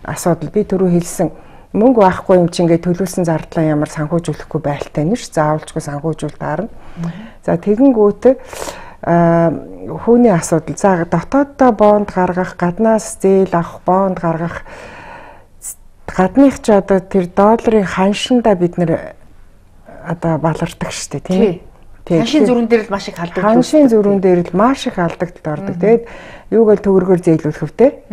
асуудал. Би түрүү хэлсэн мөнгө байхгүй юм чи ингээд төлөвлөсөн зардлаа ямар санхүүжүүлэхгүй байлтай нэ ш. Заавалжгүй санхүүжүүл таарна. За тэгэнгүүт хүүний асуудал. За дотооддоо бонд гаргах, гаднаас зээл авах, бонд гаргах гадных ч одоо тэр долларын ханшиндаа бид нэр одоо балардаг штэ тийм. Ханшийн зүрэн дээр л маш их алдагддаг. Ханшийн зүрэн дээр л маш их алдагдaltaд ордог. Тэгээд юугаар төгрөгөөр зээлүүлэх вүтэй.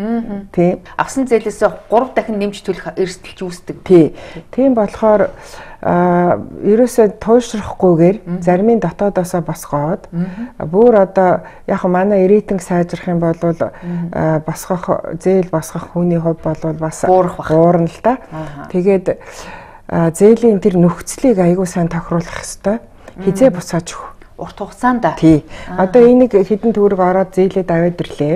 Тийм. Авсан зээлээс 3 дахин нэмж төлөх эрсдэлч үүсдэг. Тийм болохоор ерөөсөө туйлшрахгүйгээр зарим нь дотоодоосоо босгоод бүр одоо яг манай рейтинг сайжрах юм бол босгох зээл босгох хүний хувьд бол бас буурна л да. Тэгээд зээлийн тэр нөхцөлийг аягүй сайн тохируулах хэрэгтэй. Хизээ буцааж өгөх. Урт хугацаанд. Тий. Одоо энийг хэдэн төгрөг ороод зээлээд аваад ирлээ.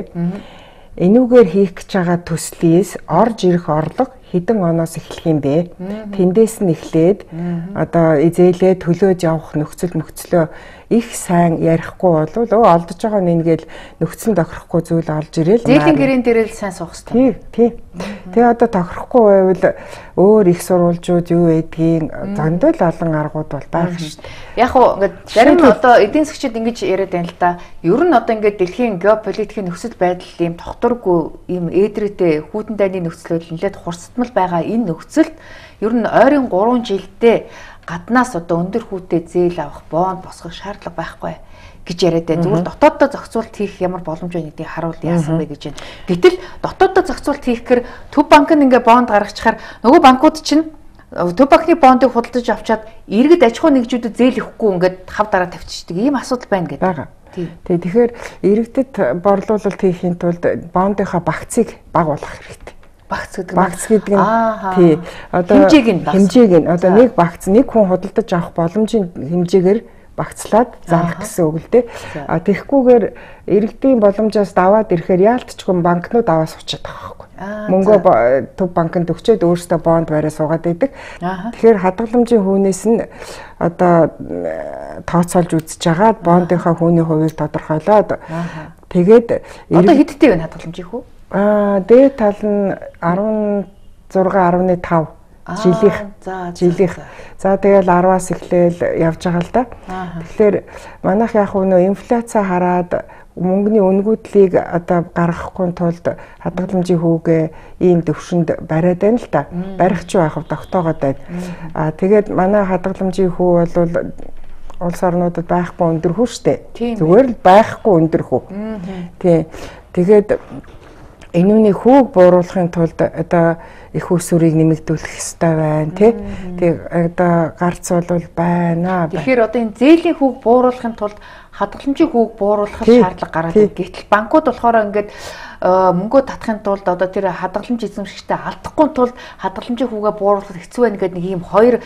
Энүүгээр хийх гэж байгаа төслийс орж ирэх орлого хэдэн оноос эхлэх юм бэ? Тэндээс нь эхлээд одоо зээлээ төлөөж явах нөхцөлөө их сайн ярихгүй болвол олдож байгаа нь ингээл нөхцөл тохирохгүй зүйл олж ирээл зээлийн гэрэн дээр л сайн суух хэрэгтэй. Тийм. Тэгээ одоо тохирохгүй байвал өөр их сурвалжууд юу байдгийг зөндөө л олон аргууд бол байх шүү дээ. Яг уу ингээд зарим одоо эдийн засгчид ингэж яриад байна л да. Ер нь одоо ингээд дэлхийн геополитикийн нөхцөл байдал ийм тогтворгүй ийм ээдрээтэй хүйтэн дайны нөхцөлөд нэлээд хурцтмал байгаа энэ нөхцөлд ер нь ойрын 3 жилдээ гаднаас одоо өндөр хүүтэй зээл авах, бонд босгох шаардлага байхгүй гэж яриад байна. Зүгээр дотооддоо зохицуулт хийх ямар боломж байна гэдгийг харуул яасан бэ гэж байна. Гэтэл дотооддоо зохицуулт хийхээр төв банк нь ингээ бонд гаргачихаар нөгөө банкуд чинь төв банкны бондыг худалдаж авчаад иргэд аж ахуй нэгжүүдэд зээл өгөхгүй ингээд хав дараа тавьчихдаг ийм асуудал байна гэдэг. Тэгэхээр иргэдэд борлуулалт хийхийн тулд бондынхаа багцыг бага болгох хэрэгтэй. Багц гэдэг нь тий одоо хэмжээг нь одоо нэг багц нэг хүн худалдаж авах боломжийн хэмжээгээр багцлаад зарах гэсэн үг л дээ. Тэгэхгүйгээр иргэдийн боломжоос даваад ирэхээр яалтчгүй банкнууд аваа суучихад байгаа байхгүй. Мөнгөө төв банкнд өгчөөд өөрсдөө бонд бариа суугаад байдаг. Тэгэхээр хадгаламжийн хүнээс нь одоо тооцоолж үзэж агаад бондынхаа хүний хувийг тодорхойлоод тэгээд одоо хэдтэй вэ хадгаламжийн хүү? Дээд тал нь 16.5 жилийнх. За тэгэл 10-аас эхлээл явж байгаа л да. Тэгэхээр манайх яг нөө инфляци хараад мөнгөний үнгүүдлийг одоо гаргахгүй тулд хадгаламжийн хүүгээ ийм төвшөнд бариад байна л да. Барих ч байх тогтоогоод байна. Тэгээд манай хадгаламжийн хүү бол улс орнуудад байхгүй өндөр хүү штэ. Зүгээр л байхгүй өндөр хүү. Тийм. Тэгээд энүүний хүүг бууруулахын тулд одоо их усүрийг нэмэгдүүлэх ёстой байна тий. Тэг одоо гарц бол байна. Тэгэхээр одоо энэ зээлийн хүүг бууруулахын тулд хадгаламжийн хүүг бууруулах шаардлага гараад байна. Гэтэл банкуд болохоор ингээд мөнгөө татахын тулд одоо тэр хадгаламж эзэмшигчтэй алдахгүй тулд хадгаламжийн хүүгээ бууруулах хэцүү байна гэдэг нэг ийм хоёр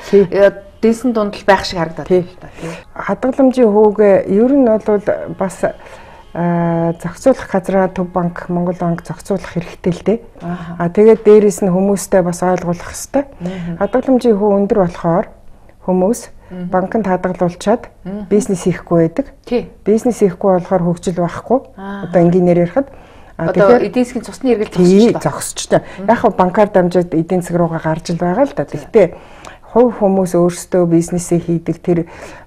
дэнсэн дундал байх шиг харагдаад байна л да. Хадгаламжийн хүүгээ ер нь бол бас зохицуулах газраа Төв банк, Монгол банк зохицуулах хэрэгтэй л дээ. Тэгээд дээрэс нь хүмүүстэй бас ойлгуулах хэрэгтэй. Хадгаламжийн хүү өндөр болохоор хүмүүс банкнд хадгалуулчаад бизнес хийхгүй байдаг. Бизнес хийхгүй болохоор хөгжил байхгүй. Одоо энгийнээр ярихад одоо эдийн засгийн цусны эргэлт зогсож байна. Яг нь банкар дамжаад эдийн засаг руугаа гарч ил байгаа л да. Гэхдээ хувь хүмүүс өөрсдөө бизнесээ хийдэг тэр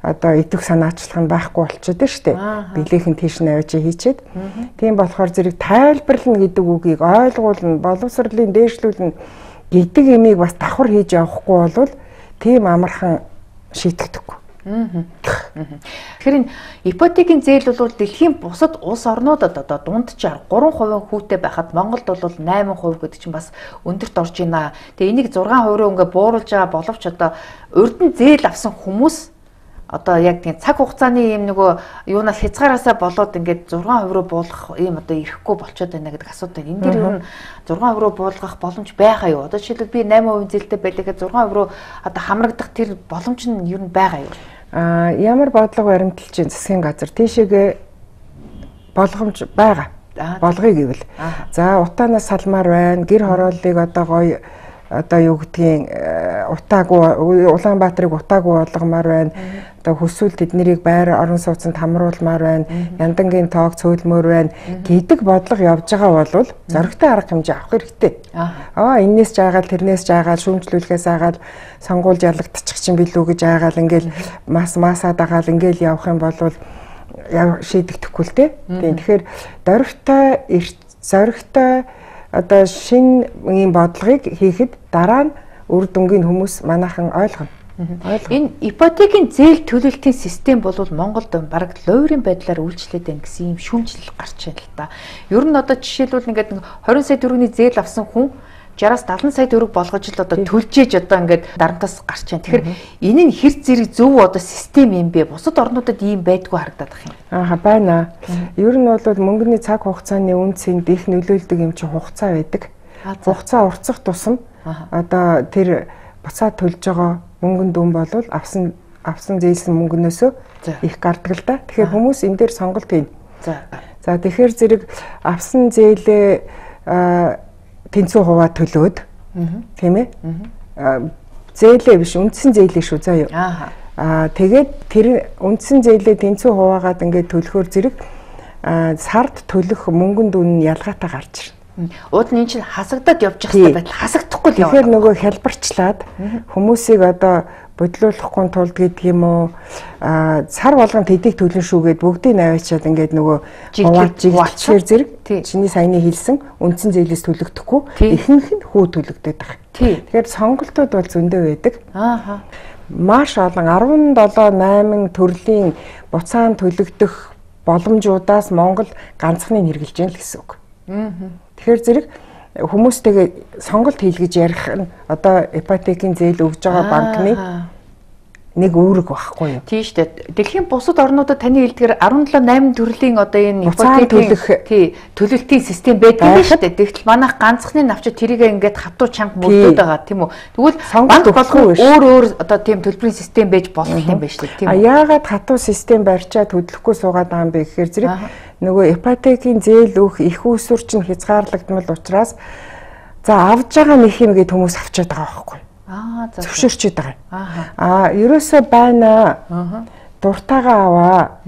одоо идэх санаачлах нь байхгүй болчиход байна шүү дээ. Билехэн тийш навиж хийчихэд. Тийм болохоор зэрэг тайлбарлана гэдэг үгийг ойлгуулна, боловсролын дээшлүүлнэ гэдэг имийг бас давхар хийж явахгүй бол тийм амархан шийтгэдэггүй. Тэгэхээр энэ ипотекийн зээл бол дэлхийн бусад улс орнуудад одоо дунджаар 3% хүүтэй байхад Монголд бол 8% гэдэг чинь бас өндөрт орж байна. Тэгээ энийг 6% ингээ бууруулж байгаа боловч одоо урд нь зээл авсан хүмүүс одоо яг тийм цаг хугацааны юм нөгөө юунаас хязгаараасаа болоод ингээд 6% буулгах ийм одоо ирэхгүй болчиход байна гэдэг асуудал. Энэ дээр ер нь 6% буулгах боломж байгаа юу? Одоо жишээлбэл би 8% зээлтэй байлаа гэхэд 6% одоо хамрагдах тэр боломж нь ер нь байгаа юу? Ямар бодлого баримталж засгийн газар тийшээгээ болгоомж байгаа. Болгоё гэвэл. За утаанаас салмаар байна. Гэр хорооллыг одоо гоё одоо юу гэдгийг утаагүй Улаанбаатарыг утаагүй болгомоор байна. Одоо хүсвэл тэднийг байр орон сууцнд хамруулмаар байна. Яндангийн тоог цөөлмөр байна гэдэг бодлого явж байгаа бол зоригтой арга хэмжээ авах хэрэгтэй. Энээс жаагаал тэрнээс жаагаал шүүмжлүүлэхээс аагаал сонгуульж ялагдчих чинь билүү гэж аагаал ингээл масаа дагаал ингээл явах юм бол шийдэгдэхгүй л дээ. Тэгэхээр зоригтой одоо шинэ ийм бодлогыг хийхэд дараа нь үр дүнгийн хүмүүс манайхан ойлгоно. Энэ ипотекийн зээл төлөлтийн систем бол Монголд бараг лойрын байдлаар үйлчлээд байна гэсэн юм шүүмжлэл гарч байна л да. Ер нь одоо жишээлбэл ингээд 20 сая төгрөгийн зээл авсан хүн 60-аас 70 сая төгрөг болгож л одоо төлжээж одоо ингээд дарамтаас гарч байна. Тэгэхээр энэ нь хэр зэрэг зөв одоо систем юм бэ? Бусад орнуудад ийм байдгүй харагдаад байна. Байна. Ер нь бол мөнгөний цаг хугацааны үнцэнд их нөлөөлдөг юм чи хугацаа байдаг. Хугацаа уртсах тусам одоо тэр буцаад төлж байгаа мөнгөнд дүн бол авсан зээлсэн мөнгнөөсөө их гардаг л да. Тэгэхээр хүмүүс энэ дээр сонголт хийнэ. За тэгэхээр зэрэг авсан зээлээ тэнцүү хуваа төлөөд тийм ээ зээлээ биш үндсэн зээлээ шүү заа юу тэгээд тэр үндсэн зээлээ тэнцүү хуваагаад ингээд төлөхөөр зэрэг сард төлөх мөнгөнд үнэ ялгаатай гарч ирнэ. Уул нь энэ чинь хасагдаад явж байгаа байтал хасагдахгүй л яваа. Тэгэхээр нөгөө хялбарчлаад хүмүүсийг одоо бодлуулахгүй тулд гэдэг юм уу сар болгонд хэдийг төлнө шүүгээд бүгдийг наваачаад ингээд нөгөө хуваалцчихэр зэрэг чиний саяны хэлсэн үндсэн зээлээс төлөгдөхгүй ихэнх нь хүү төлөгдөд байгаа. Тэгэхээр сонголтууд бол зөндөө байдаг. Маш олон 17-8 төрлийн буцаан төлөгдөх боломжуудаас Монгол ганцхан хэрэгжилж байна л гэсэн үг. Тэгэхээр зэрэг хүмүүстэйгээ сонголт хийлгэж ярих нь одоо ипотекийн зээл өгж байгаа банкны нэг үүрэг байхгүй юу? Тийм шүү дээ. Дэлхийн бусад орнуудад таны хэлдгээр 17-8 төрлийн одоо энэ ипотекийн төлөлтийн систем байдаг юм шүү дээ. Тэгтэл манайх ганцхны навчид тэрийг ингээд хатуу чанга мөрдөд байгаа тийм үү? Тэгвэл банк болгон өөр одоо тийм төлбөрийн систем байж болох юм байна шүү дээ. Тийм үү? Яагаад хатуу систем барьчаад хөдлөхгүй суугаад байгаа юм бэ гэхээр зэрэг нөгөө ипотекийн зээл өгөх их усүр чинь хязгаарлагдмал учраас за авж байгаа нэг юм гээд хүмүүс авчиад байгаа байхгүй юу? Зөвшөөрчээд байгаа. Ерөөсөө байна. Дуртайгаа аваа.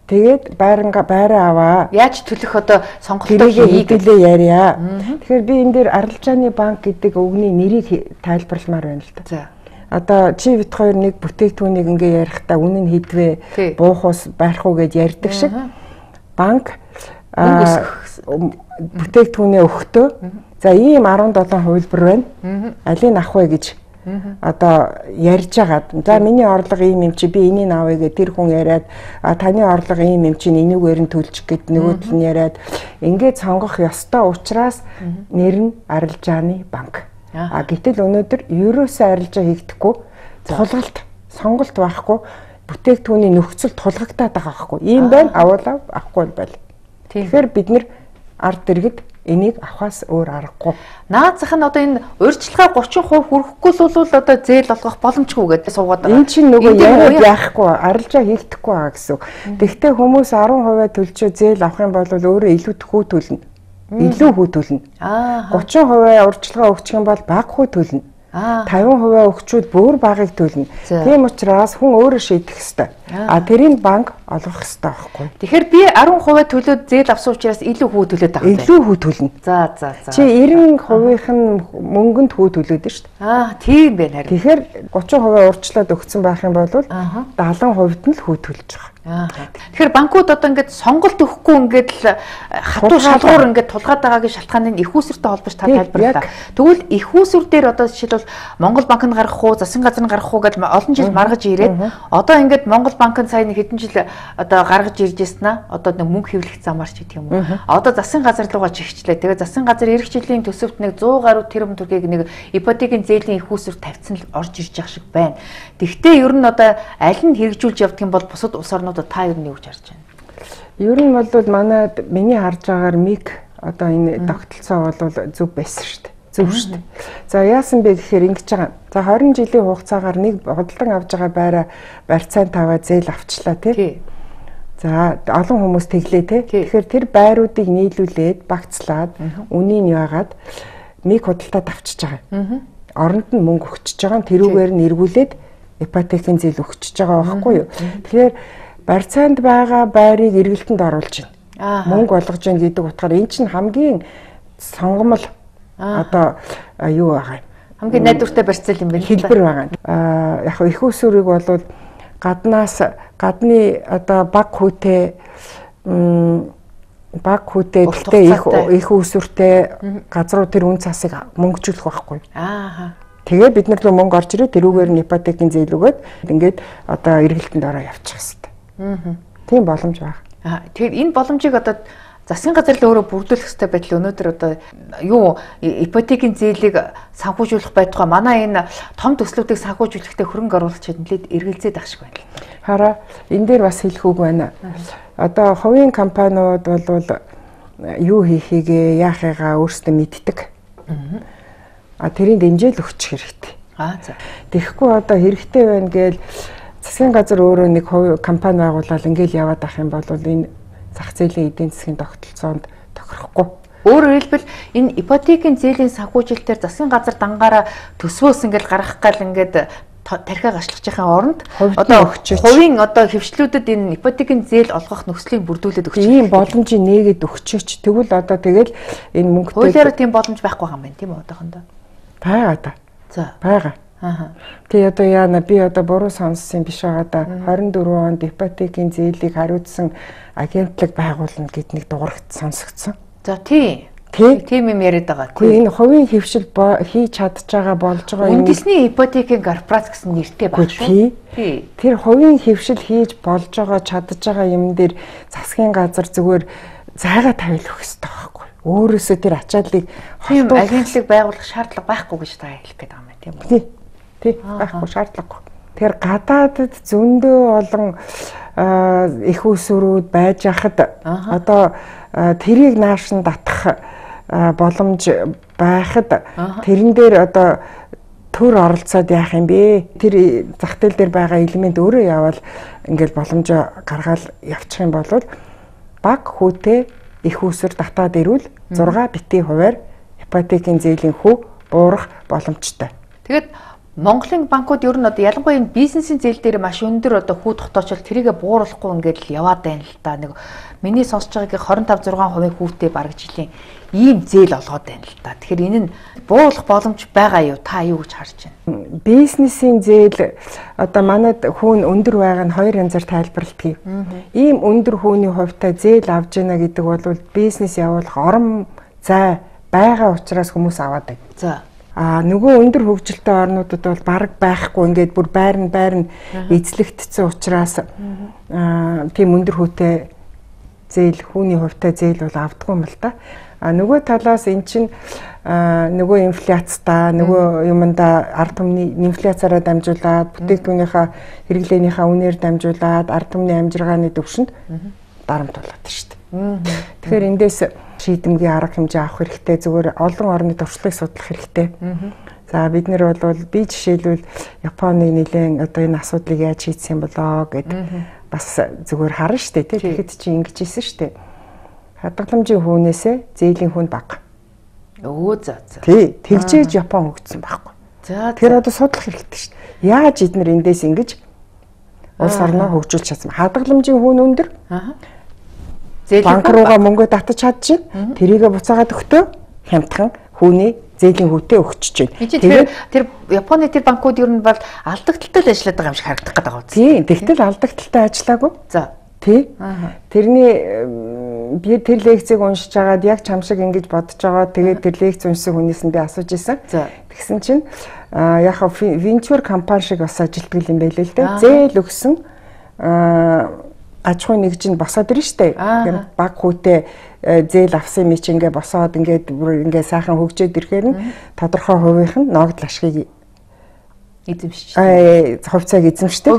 Тэгээд байраа аваа. Яаж төлөх одоо сонголтоо хийгдэлээ ярья. Тэгэхээр би энэ дээр Арилжааны банк гэдэг үгний нэрийг тайлбарламаар байна л да. Одоо чи бит хоёр нэг бүтээгдэхүүнийг ингээ ярихдаа үнэн хэдвэ буух ус байрах уу гэж ярьдаг шиг банк бүтээгдэхүүнээ өгөхдөө за ийм 17 хувилбар байна. Алийг авах вэ гэж одоо ярьж агаад за миний орлого ийм юм чи би энийг авъя гэ тэр хүн яриад таны орлого ийм юм чи энийгээр нь төлчих гэд нөгөөдөл нь яриад ингээд сонгох ёстой учраас нэр нь Арилжааны банк. Гэтэл өнөөдөр ерөөсөө арилжаа хийгдэхгүй тулгалт, сонголт байхгүй бүтээгдэхүүний нөхцөл тулгагдаад байгаа байхгүй. Ийм байна, авуулаа авахгүй байл. Тэгэхээр бид нэр ард иргэд энийг авахаас өөр аргагүй. Наазах нь одоо энэ урьдчилгаа 30% хүрэхгүй л бол одоо зээл олгох боломжгүй гэдэг суугаад байгаа. Энэ чинь нөгөө яриад яахгүй, арилжаа хийгдэхгүй байгаа гэсэн. Тэгвэл хүмүүс 10% төлчөө зээл авах юм бол өөрөө илүү хүү төлнө. Илүү хүү төлнө. 30% урьдчилгаа өгчих юм бол бага хүү төлнө. 50% өгчүүд бүр багыг төлнө. Тийм учраас хүн өөрөө шийдэх ёстой. Тэрийг банк олгох ёстой байхгүй. Тэгэхээр би 10% төлөөд зээл авсан учраас илүү хүү төлөөд байгаа юм байна. Илүү хүү төлнө. За. Чи 90% нь мөнгөнд хүү төлөөд шүү дээ. Тийм байна харин. Тэгэхээр 30% урьдчилаад өгсөн байх юм бол 70% нь л хүү төлж байгаа. Тэгэхээр банкуд одоо ингээд сонголт өгөхгүй ингээд л хатуу шалгуур ингээд тулгаад байгаагийн шалтгааныг их усүртэй холбож та тайлбарлаа. Тэгвэл их усүр дээр одоо жишээлбэл Монгол банкнд гарах уу, засгийн газар нь гарах уу гэж олон жил маргаж ирээд одоо ингээд Монгол банкнд сая нэг хэдэн жил одоо гаргаж ирж яснаа одоо нэг мөнгө хэвлэх замаар ч гэдэг юм уу. Одоо засгийн газар руугаа чигчлээ. Тэгээ засгийн газар эх жилийн төсөвт нэг 100 гаруй тэрбум төгрөгийг нэг ипотекийн зээлийн их усүр тавьсан л орж ирж байгаа шиг байна. Тэгвэл ер нь одоо аль нь хэрэгжүүлж явдаг юм бол бусад улс орнуудад та ер нь юу гэж харж байна? Ер нь бол миний харж байгаагаар МИГ одоо энэ тогтолцоо бол зөв байсан шүү дээ. Зөв шүү дээ. За яасан бэ гэхээр ингэж байгаа. За 20 жилийн хугацаагаар нэг худалдан авж байгаа барьцаанд таваа зээл авчлаа тий. За олон хүмүүс тэглээ тий. Тэгэхээр тэр байруудыг нийлүүлээд багцлаад үнийг яагаад МИГ худалдаад авчиж байгаа. Оронд нь мөнгө өгчөж байгаа. Тэрүүгээр нь эргүүлээд ипотекийн зээл өгчөж байгаа байхгүй юу? Тэгэхээр барьцаанд байгаа байрыг эргэлтэнд оруулж байна. Мөнгө олгож байна гэдэг утгаар энэ чинь хамгийн сонгомл одоо юу байгаа юм. Хамгийн найдвартай барьцаал юм байна. Хэлбэр байгаа. Яг их усүрийг бол гадны одоо баг хүүтэй гэхдээ их усүртэй газруу тэр үн цасыг мөнгөжүүлэх байхгүй. Тэгээ бид нар л мөнгө орж ирээ тэрүүгээр нь ипотекийн зээл өгөөд ингээд одоо эргэлтэнд ороо явчих хэвээр. Тийм боломж байна. Тэгэхээр энэ боломжийг одоо засгийн газар л өөрөө бүрдүүлэх хэрэгтэй байтал өнөөдөр одоо юу ипотекийн зээлийг санхүүжүүлэх байтугай манай энэ том төслүүдийг санхүүжүүлэхдээ хөрөнгө оруулагчид нэлээд эргэлзээд ах шиг байна. Хараа энэ дээр бас хэлэх үг байна. Одоо хувийн компаниуд бол юу хийхийгээ яахыгаа өөрсдөө мэддэг. Тэрийн дэмжээл өгчих хэрэгтэй. Тэгэхгүй одоо хэрэгтэй байна гээл засгийн газар өөрөө нэг компани байгуулаад ингээл яваад ах юм бол энэ зах зээлийн эдийн засгийн тогтолцоонд тохирохгүй. Өөрөөр хэлбэл энэ ипотекийн зээлийн санхүүжилтээр засгийн газар дангаараа төсвөөс ингээл гаргах гал ингээд тархиа гашлах жахын оронд одоо хувийн одоо хөвчлүүдэд энэ ипотекийн зээл олгох нөхцөлийг бүрдүүлээд өгч ийм боломжийг нээгээд өгчөөч. Тэгвэл одоо тэгэл энэ мөнгөтэй хуулиараа тийм боломж байхгүй байгаа юм байна тийм үү одоохондоо. Байгаа да. За байгаа. Тэгээ одоо яана би одоо буруу сонссон биш байгаа да. 24 онд ипотекийн зээлийг хариуцсан агентлаг байгуулна гэд нэг дуурайт сонсогдсон. За тийм юм яриад байгаа. Гэхдээ энэ хувийн хөвшил хийж чадж байгаа болж байгаа юм. Үндэсний ипотекийн корпорац гэсэн нэртэй байна шүү. Тэр хувийн хөвшил хийж болж байгаа чадж байгаа юм дээр засгийн газар зүгээр зайгаа тавиулах хэрэгтэй байхгүй. Өөрөөсөө тэр ачааллыг тийм агентлаг байгуулах шаардлага байхгүй гэж та хэлэх гээд байгаа юм тийм үү? Тий, байхгүй шаардлагагүй. Тэр гадаадд зөндөө олон их усүрүүд байж хахад одоо тэрийг нааш нь татах боломж байхад тэрэн дээр одоо төр оролцоод яах юм бэ? Тэр зах зээл дээр байгаа элемент өөрөө явал ингээл боломжоо гаргаал явчих юм бол баг хүүтэй их усүр татаад ирвэл 6 битгий хувиар ипотекийн зээлийн хүү буурах боломжтой. Тэгэд Монголын банкуд ер нь одоо ялангуяа энэ бизнесийн зээл дээр маш өндөр одоо хүү тогтоочвол тэрийгэ бууруулахгүй ингээд л яваад байна л да. Нэг миний сонсож байгаагийн 25-6% хүүтэй бараг жилийн ийм зээл олгоод байна л да. Тэгэхээр энэ нь бууруулах боломж байгаа юу? Та юу гэж харж байна? Бизнесийн зээл одоо манайд хүүн өндөр байгаа нь хоёр янзаар тайлбарлагдгийг. Ийм өндөр хүүний хувьтай зээл авж яана гэдэг бол бизнес явуулах орон зай байгаа учраас хүмүүс аваад байна. За нөгөө өндөр хөгжилтэй орнуудад бол бараг байхгүй ингээд бүр байр нь эзлэгдсэн учраас тийм өндөр хүүтэй зээл хүүний хувьтай зээл бол авдаггүй юм л та. Нөгөө талаас эн чинь нөгөө инфляцтай нөгөө юмдаа ард түмний инфляцаараа дамжуулаад бүтээгдэхүүнийхээ хэрэглээнийхээ үнээр дамжуулаад ард түмний амжиргааны төвшөнд дарамт болоод шүү дээ. Тэгэхээр эндээс шийдэмгий арга хэмжээ авах хэрэгтэй, зүгээр олон орны туршлагыг судлах хэрэгтэй. За бид нэр бол би жишээлбэл Японы нэлээд одоо энэ асуудлыг яаж шийдсэн болоо гэд бас зүгээр харна шүү дээ. Тэгэхэд чи ингэж хэлсэн шүү дээ. Хадгаламжийн хүнээсээ зээлийн хүн бага. За. Тий, тэгжээж Япон хөгжсөн байхгүй. За. Тэгэхээр одоо судлах хэрэгтэй шүү дээ. Яаж эднэр эндээс ингэж улс орноо хөгжүүлж чадсан. Хадгаламжийн хүн өндөр. Банк руугаа мөнгө татаж чадчихна. Тэрийгэ буцаагаад өгтөө хямдхан хүний зээлийн хүүтэй өгчөж байна. Тэр Японы тэр банкуд ер нь бол алдагдaltaй ажилладаг байгаа юм шиг харагдах гэдэг байгаа. Тийм, тэгтэл алдагдaltaй ажиллаагүй. За. Тий. Тэрний би тэр лекцийг уншиж агаад яг чам шиг ингэж бодож байгаа. Тэгээд тэр лекц уншсан хүнээс нь би асууж исэн. Тэгсэн чинь яг венчур компани шиг бас ажилтдаг юм байлээ л дээ. Зээл өгсөн аж ахуйн нэгж нь босоод ирнэ штэ. Баг хүүтэй зээл авсан ми чи ингээ босоод ингээ сайхан хөгжөөд ирэхээр нь тодорхой хувийнх нь ногдол ашгийг эзэмшиж. Хувьцааг эзэмшдэг.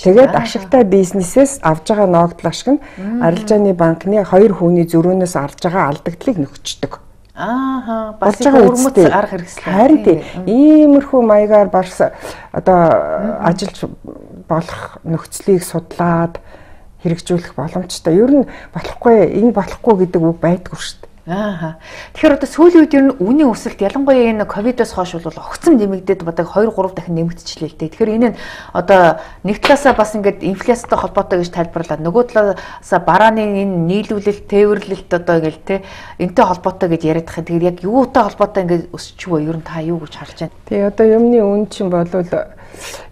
Тэгээд ашигтай бизнесээс авж байгаа ногдол ашиг нь арилжааны банкны 2 хүний зөрөөнөөс арж байгаа алдагдлыг нөхцдөг. Бас өрмөц арга хэрэгсэл. Харин тийм иймэрхүү маягаар барс одоо ажиллаж болох нөхцөлийг судлаад хэрэгжүүлэх боломжтой. Ер нь болохгүй, энэ болохгүй гэдэг үг байдгүй шүү дээ. Тэгэхээр одоо сүүлийн үед ер нь үнийн өсөлт ялангуяа энэ ковидоос хойш бол огцом нэмэгдээд бодог 2-3 дахин нэмэгдчихлээ л дээ. Тэгэхээр энэ нь одоо нэг талаасаа бас ингээд инфляцтай холбоотой гэж тайлбарлаад нөгөө талаасаа барааны энэ нийлүүлэлт, тээвэрлэлт одоо ингээл те энтэй холбоотой гэж яриад байгаа. Тэгэхээр яг юутай холбоотой ингээд өсчихвөө ер нь та юу гэж харж байна? Тэгээ одоо юмны үн чинь болвол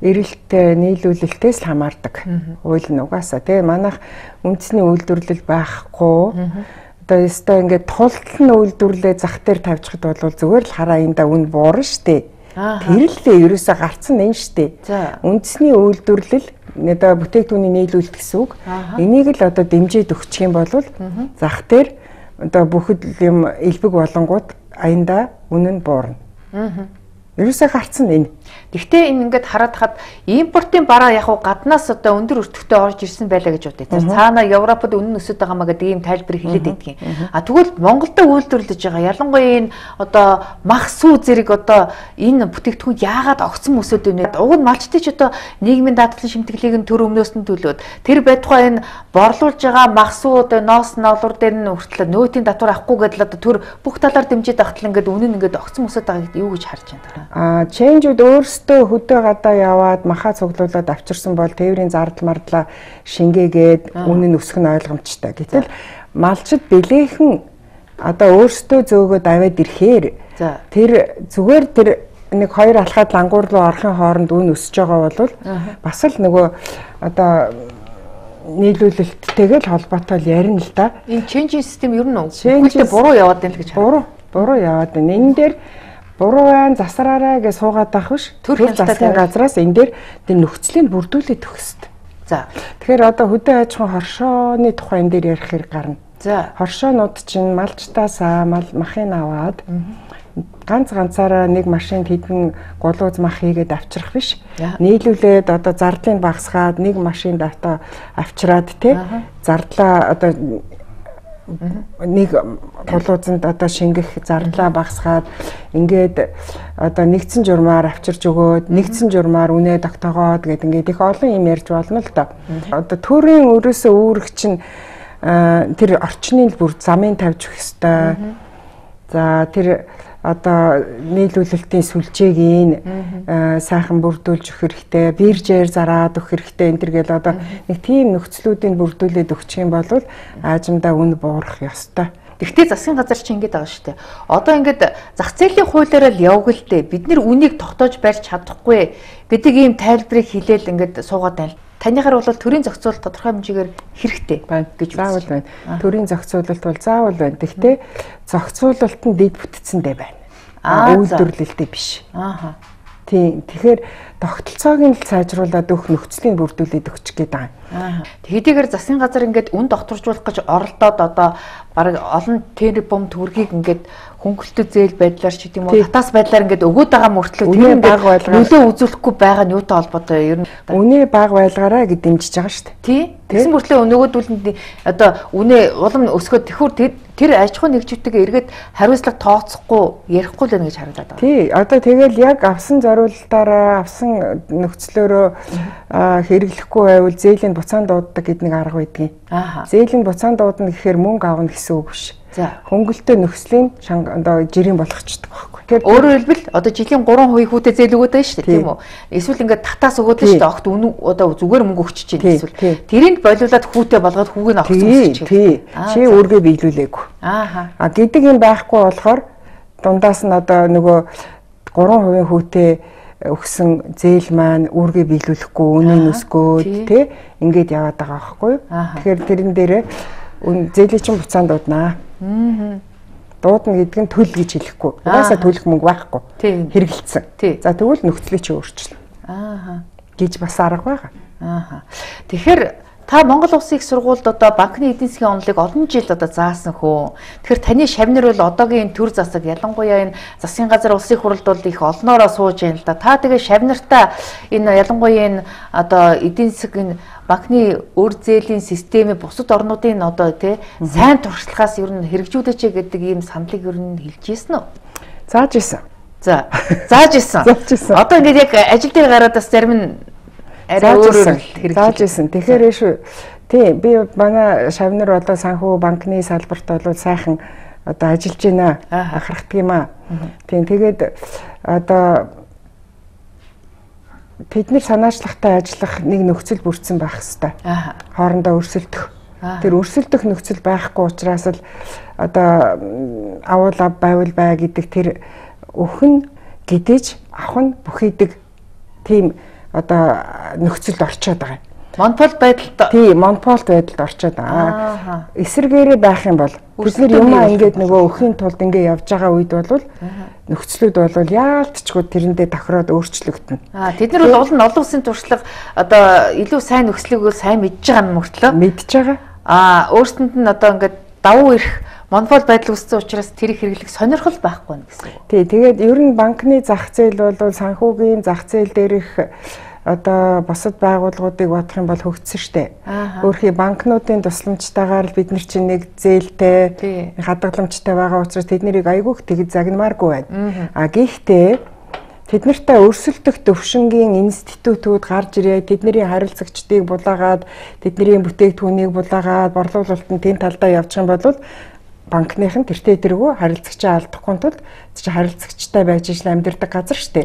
эрэлттэй нийлүүлэлтээс л хамаардаг. Хууль нь угаасаа тэгээ манайх үндэсний үйлдвэрлэл байхгүй. Одоо ёстой ингээд тултал нь үйлдвэрлэлээ зах дээр тавьчихад бол зүгээр л хараа энэ да үн буурна штэ. Тэр л ерөөсө гарцсан энэ штэ. Үндэсний үйлдвэрлэл одоо бүтээгдэхүүний нийлүүлэлт гэсэн үг. Энийг л одоо дэмжиж өгчих юм бол зах дээр одоо бүхэл юм элбэг болонгууд аянда үнэ нь буурна. Ерөөсөө гарцсан энэ. Гэхдээ энэ ингээд хараад хаад импортын бараа яг гаднаас одоо өндөр өртөгтэй орж ирсэн байлаа гэж бодъё. Цаана Европод үнэн өсөд байгаа маа гэдэг ийм тайлбар хэлээд байдгийн. Тэгвэл Монголд үйлдвэрлэж байгаа ялангуяа энэ одоо мах сүү зэрэг одоо энэ бүтээгдэхүүн яагаад огцом өсөд байна вэ? Уг нь малчтын ч одоо нийгмийн даатгалын шимтгэлийг нь төр өмнөөс нь төлөөд тэр байтугай энэ борлуулж байгаа мах сүү одоо ноос ноолуур дээр нь хүртэл нөөтийн татвар авахгүй гэдэл одоо төр бүх талаар дэмжиж ахтал ингээд үнэн ингээд огцом өсөд байгаа гэдэг юу гэж харж байна? Чэнжүүд өөрсдөө хөдөө гадаа яваад махаа цуглуулад авчирсан бол тээврийн зардал мардлаа шингээгээд үнэн өсөх нь ойлгомжтой. Гэтэл малчид бэлээхэн одоо өөрсдөө зөөгөөд аваад ирэхээр тэр зүгээр тэр нэг 2 алхаад лангуур руу орохын хооронд үн өсөж байгаа бол бас л нөгөө одоо нийлүүлэлттэйгээ л холбоотой л ярина л да. Энэ чэнжийн систем ер нь үгүйтэй буруу яваад байна л гэж харна. Буруу яваад байна. Энэ дээр буруу байна, засраарай гэж суугаад байх биш. Төр засгийн газраас энэ дээр тэр нөхцөлийг бүрдүүлээд өгөх хэрэгтэй. За. Тэгэхээр одоо хөдөө аж ахуйн хоршооны тухай энэ дээр ярих хэрэг гарна. За. Хоршоонууд чинь малчтаасаа махыг аваад ганцаараа нэг машинд хэдэн гулууз мах хийгээд авчрах биш. Нийлүүлээд одоо зардлыг багасгаад нэг машинд авчраад те зардлаа одоо нэг гулуузанд одоо шингэх зардлаа багасгаад ингээд одоо нэгдсэн журмаар авчирч өгөөд нэгдсэн журмаар үнэ тогтоогоод гэдэг ингээд их олон юм ярьж болно л да. Одоо төрийн өрөөсөө үүрэг чинь тэр орчны бүр замын тавьж өгөх ёстой. За тэр одоо нийлүүлэлтийн сүлжээг сайхан бүрдүүлж өгөх хэрэгтэй, биржээр зараад өгөх хэрэгтэй энэ төр гэл одоо нэг тийм нөхцлүүдийг бүрдүүлээд өгчих юм бол аажимдаа үн буурах ёстой. Гэхдээ засгийн газар чинь ингэж байгаа шүү дээ. Одоо ингээд зах зээлийн хуулиараа л яваг л дээ. Бид нэр үнийг тогтоож барьж чадахгүй гэдэг ийм тайлбарыг хэлээл ингээд суугаад байна. Танихаар бол төрийн зохицуулалт тодорхой хэмжээгээр хэрэгтэй байна гэж заавал байна. Төрийн зохицуулалт бол заавал байна. Гэхдээ зохицуулалт нь дэд бүтцэндээ байна. Үйлдвэрлэлтэй биш. Тийм. Тэгэхээр тогтолцоог нь сайжруулад өгөх нөхцөлийг бүрдүүлээд өгчих гээд байгаа. Хэдийгээр засгийн газар ингээд үн докторжуулах гэж оролдоод одоо бараг олон тэрбум төгрөгийг ингээд хөнгөлөлтөд зээл байдлаар ч гэдэм үү татаас байдлаар ингээд өгөөд байгаа мөртлөө тэр ингээд нөлөө үзүүлэхгүй байгаа нь юутай холбоотой ер нь үнэ баг байлгаараа гэж дэмжиж байгаа шүү дээ. Тий. Тэгсэн мөртлөө нөгөөдүүлэнд одоо үнэ улам өсгөөд тэхүүр тэр аж ахуйн нэгжүүдтэйгээ эргээд хариуцлага тооцохгүй ярихгүй л байна гэж харагдаад байна. Тий. Одоо тэгэл яг авсан зориулалтаараа авсан нөхцлөөрөө хэрэглэхгүй байвал зээлийн буцаан дууддаг гэдэг нэг арга байдгийг. Зээлийн буцаан дуудна гэхээр мөнгө авна гэсэн үг биш. Хөнгөлөлтөө нөхцөлийн одоо жирийн болгочдөг байхгүй. Тэгэхээр өөрөөр хэлбэл одоо жилийн 3% хүүтэй зээл өгöd байна шүү дээ тийм үү? Эсвэл ингээд татаас өгöd шүү дээ. Огт үнэн одоо зүгээр мөнгө өгч чинь эсвэл тэрийг болиулаад хүүтэй болгоод хүүг нь авах гэж тий. Чи өөргөө биелүүлээгүй. Гэдэг юм байхгүй болохоор дундаас нь одоо нөгөө 3% хүүтэй өгсөн зээл маань үүргээ биелүүлэхгүй үнийн өсгөөд тий ингээд яваад байгаа байхгүй. Тэгэхээр тэрэн дээрээ зээлийн чинь буцаан дууднаа. Дуудна гэдэг нь төл гэж хэлэхгүй. Угаасаа төлөх мөнгө байхгүй. Хэрэгэлцсэн. За тэгвэл нөхцөлийг чи өөрчлөн. Гэж бас арга байгаа. Тэгэхээр та Монгол Улсын их сургуульд одоо банкны эдийн засгийн онолыг олон жил одоо заасан хөө. Тэгэхээр таны шавнар бол одоогийн төр засаг ялангуяа энэ засгийн газар улсын хурлд бол их олноороо сууж байна л да. Та тэгээ шавнартаа энэ ялангуяа энэ одоо эдийн засгийн банкны өр зээлийн системийн бусад орнуудын одоо тий сайн туршлагаас ер нь хэрэгжүүлээч гэдэг ийм саналыг ер нь хэлж ийсэн үү? Зааж ийсэн. За, зааж ийсэн. Одоо ингээд яг ажил дээр гараад бас зарим нь арай өөрөөр зааж ийсэн. Тэгэхээр шүү. Тий, би манай шавнар одоо санхүү банкны салбарт бол сайхан одоо ажиллаж байна. Анхаардаг юм аа. Тийм тэгээд одоо тэдний санаачлагтай ажиллах нэг нөхцөл бүрдсэн байх хэвээр. Хоорондоо өрсөлдөх. Тэр өрсөлдөх нөхцөл байхгүй учраас л одоо авал ав байвал бай гэдэг тэр өхөн гэдэж авах нь бүхийдэг тийм одоо нөхцөлд орчоод байгаа. Монопол байдалд тий монополд байдалд орчоод байгаа. Эсэргээрээ байх юм бол бид нар юмаа ингээд нөгөө өхийн тулд ингээд явж байгаа үед бол нөхцлүүд бол яалтчгүй тэрэндээ тохироод өөрчлөгдөнө. Тэд нар бол олон улсын туршлага одоо илүү сайн нөхцөлийг сайн мэдж байгаа нь мөртлөө мэдж байгаа. Өөрсдөнд нь одоо ингээд давуу ирэх монопол байдал үүссэн учраас тэрийг хэрэглэх сонирхол байхгүй нь гэсэн үг. Тий, тэгээд ер нь банкны зах зээл бол санхүүгийн зах зээл дээрх одоо босод байгууллагуудыг бодох юм бол хөгжсөн штэ. Өөрхий банкнуудын тусламжтайгаар бид нар чинь нэг зээлтэй хадгаламжтай байгаа учраас тэд нарыг айгүйх тэгж загнамааргүй байна. Гэхдээ тэд нартай өрсөлдөх төвшингийн институтууд гарч ирээ, тэдний харилцагчдыг булаагаад, тэдний бүтээгдэхүүнийг булаагаад борлуулалтанд тэн талдаа явчих юм бол банкныхан тэртээ тэргүй харилцагчаа алдахгүй тулд харилцагчтай байж ижил амьдардаг газар штэ.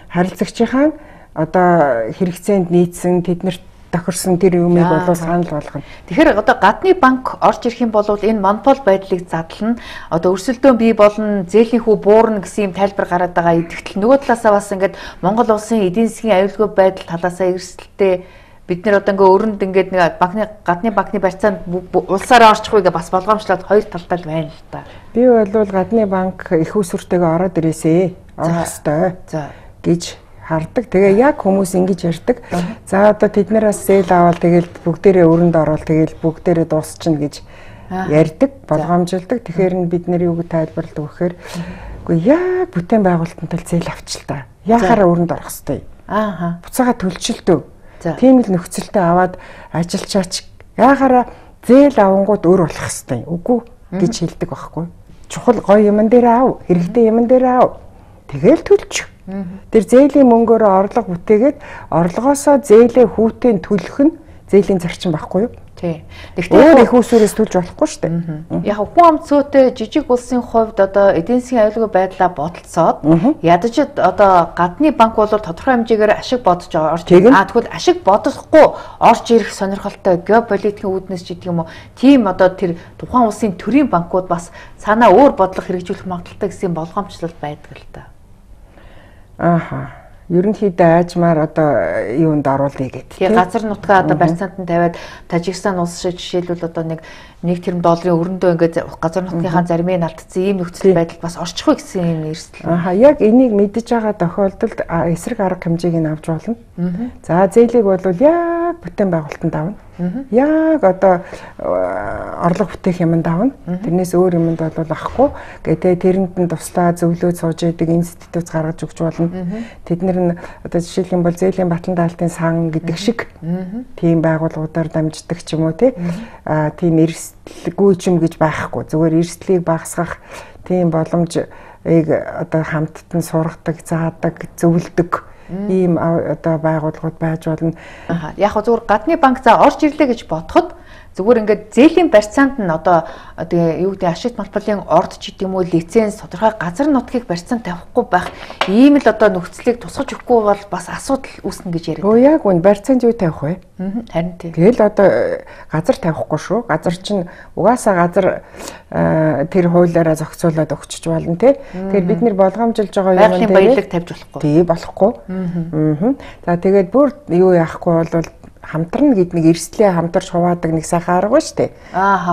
Харилцагчийн одоо хэрэгцээнд нийцсэн тэднэрт тохирсон тэр юмыг бол санал болгоно. Тэгэхээр одоо гадны банк орж ирэх юм бол энэ монопол байдлыг задлана. Одоо өрсөлдөөн бий болно, зээлийнхүү буурна гэсэн юм тайлбар гараад байгаа. Идэвхтэл нөгөө талаасаа бас ингээд Монгол улсын эдийн засгийн аюулгүй байдал талаасаа эрсдэлтэй бид нар одоо ингээ өрөнд ингээд нэг гадны банкны барьцаанд улсаараа орчих үгээ бас болгоомжлоод хоёр талтай л байна л та. Би бол гадны банк их усүртэйгээ ороод ирээсэ. Орох ёстой. Гэж хардаг. Тэгээ яг хүмүүс ингэж ярьдаг. За одоо тэднээс зээл аваад тэгэл бүгдээрээ өрөнд ороод тэгэл бүгдээрээ дуусчихна гэж ярьдаг, болгоомжилдаг. Тэгэхээр нь бид нэр юу гэж тайлбарлалт өгөхээр үгүй яг бүтээн байгуулалтанд л зээл авчил та. Яахаараа өрөнд орох хэвтэй. Буцаага төлчилдөө. Тийм л нөхцөлтэй аваад ажилчаач яахаараа зээл авангууд өөр болох хэвтэй. Үгүй гэж хэлдэг байхгүй. Чухал гоё юмн дээр аав, хэрэгтэй юмн дээр аав. Тэгэл төлчих. Тэр зээлийн мөнгөөрөө орлого бүтээгээд орлогоосоо зээлээ хүүтэн төлөх нь зээлийн зарчим байхгүй юу? Тий. Өөр их усүрээс төлж болохгүй шүү дээ. Яг хүн амцөөтэй жижиг улсын хувьд одоо эдийн засгийн аюулгүй байдлаа бодолцоод ядаж одоо гадны банк бол тодорхой хэмжээгээр ашиг бодож орж ирнэ. Тэгвэл ашиг бодохгүй орж ирэх сонирхолтой геополитикийн үүднээс ч гэдэг юм уу. Тийм одоо тэр тухайн улсын төрийн банкуд бас санаа өөр бодлого хэрэгжүүлэх магадaltaй гэсэн болгоомжлол байдаг л та. ерөнхийдөө аажмаар одоо юунд оруулъя гэдэг. Тэгээ газар нутгаа одоо барьцаанд нь тавиад Тажикстан улс шиг жишээлбэл одоо нэг $1 тэрбум өрөндөө ингээд газар нутгийнхаа заримыг алдсан ийм нөхцөл байдал бас орчих уу гэсэн юм эрсдэл. Яг энийг мэдэж байгаа тохиолдолд эсрэг арга хэмжээг нь авч болно. За зээлийг бол яг бүтээн байгуулалтанд авна. Яг одоо орлого бүтээх юмд авна. Тэрнээс өөр юмд бол авахгүй. Гэтэ тэрэнд нь туслаа зөвлөө сууж яадаг институт гаргаж өгч болно. Тэднэр нь одоо жишээлх юм бол зээлийн батлан даалтын сан гэдэг шиг тийм байгууллагуудаар дамждаг ч юм уу тийм эрсдэлгүй юм гэж байхгүй. Зүгээр эрсдлийг багасгах тийм боломж одоо хамттан сургадаг, заадаг, зөвлөдөг ийм одоо байгууллагууд байж болно. Яг зүгээр гадны банк за орж ирлээ гэж бодоход зүгээр ингээд зээлийн барьцаанд нь одоо тэгээ юу гэдэг ашигт малбарын орд ч гэдэм үү лиценз тодорхой газар нутгийг барьцаанд тавихгүй байх ийм л одоо нөхцөлийг тусгаж өгөхгүй бол бас асуудал үүснэ гэж яриад. Яг үн барьцаанд юу тавих вэ? Харин тийм. Тэгэл одоо газар тавихгүй шүү. Газар чинь угаасаа газар тэр хуулиараа зохицуулаад өгчөж болно тий. Тэгэхээр бид нэр болгоомжилж байгаа юм баялаг тавьж болохгүй. Тий болохгүй. За тэгээд бүр юу яахгүй бол хамтрна гэд нэг эрсдлээ хамтарч хуваадаг нэг сайхан арга ба штэ.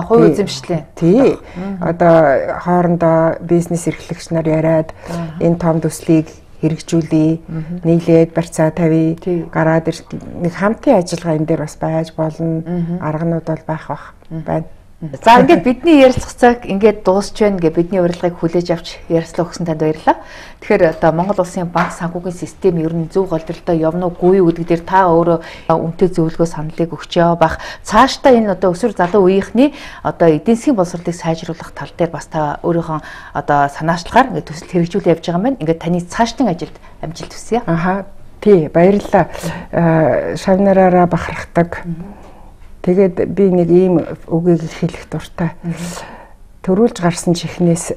Хувь эзэмшлээ. Тий. Одоо хоорондоо бизнес эрхлэгч нар яриад энэ том төслийг хэрэгжүүлээ, нийлээд барьцаа тавья, гараад нэг хамтын ажиллагаа энэ дээр бас байж болно. Арганууд бол байх байна. За ингээд бидний ярилцах цаг ингээд дуусч байна гэ бидний урилгыг хүлээж авч ярилцлаа өгсөн танд баярлалаа. Тэгэхээр одоо Монгол Улсын банк санхүүгийн систем ер нь зөв голдролтой явна уугүй юу гэдэг дээр та өөрөө үнэтэй зөвлөгөө саналыг өгч яваа бах. Цаашдаа энэ одоо өсвөр залуу үеийнхний одоо эдийн засгийн боловсролыг сайжруулах тал дээр бас та өөрийнхөө одоо санаачлагаар ингээд төсөл хэрэгжүүлээ явж байгаа юм байна. Ингээд таны цаашдын ажилд амжилт хүсье. Тий, баярлалаа. Шавнараараа бахархдаг. Тэгээд би нэг ийм үгийг хэлэх дуртай. Төрүүлж гарсан чихнээс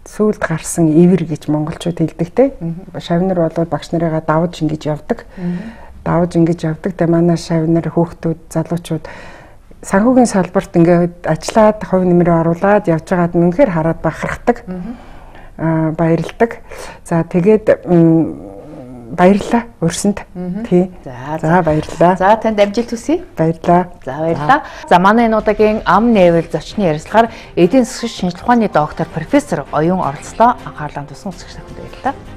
сүүлд гарсан ивэр гэж монголчууд хэлдэг те. Шавнар бол багш нарыгаа давж ингэж явдаг. Давж ингэж явдаг. Тэгээ манай шавнар хүүхдүүд, залуучууд санхүүгийн салбарт ингээд ажиллаад хувь нэмрээ оруулаад явж байгаад үнэхээр хараад бахархдаг. Баярладаг. За тэгээд баярлалаа өрсөнд. Тий. За баярлалаа. За танд амжилт хүсье. Баярлалаа. За баярлалаа. За манай энэ удаагийн ам нээвэл зочны ярилцлагаар эдийн засгийн шинжилгээ ухааны доктор профессор Оюун оролцлоо. Анхаарлаа туссан үзэгч танд баярлалаа.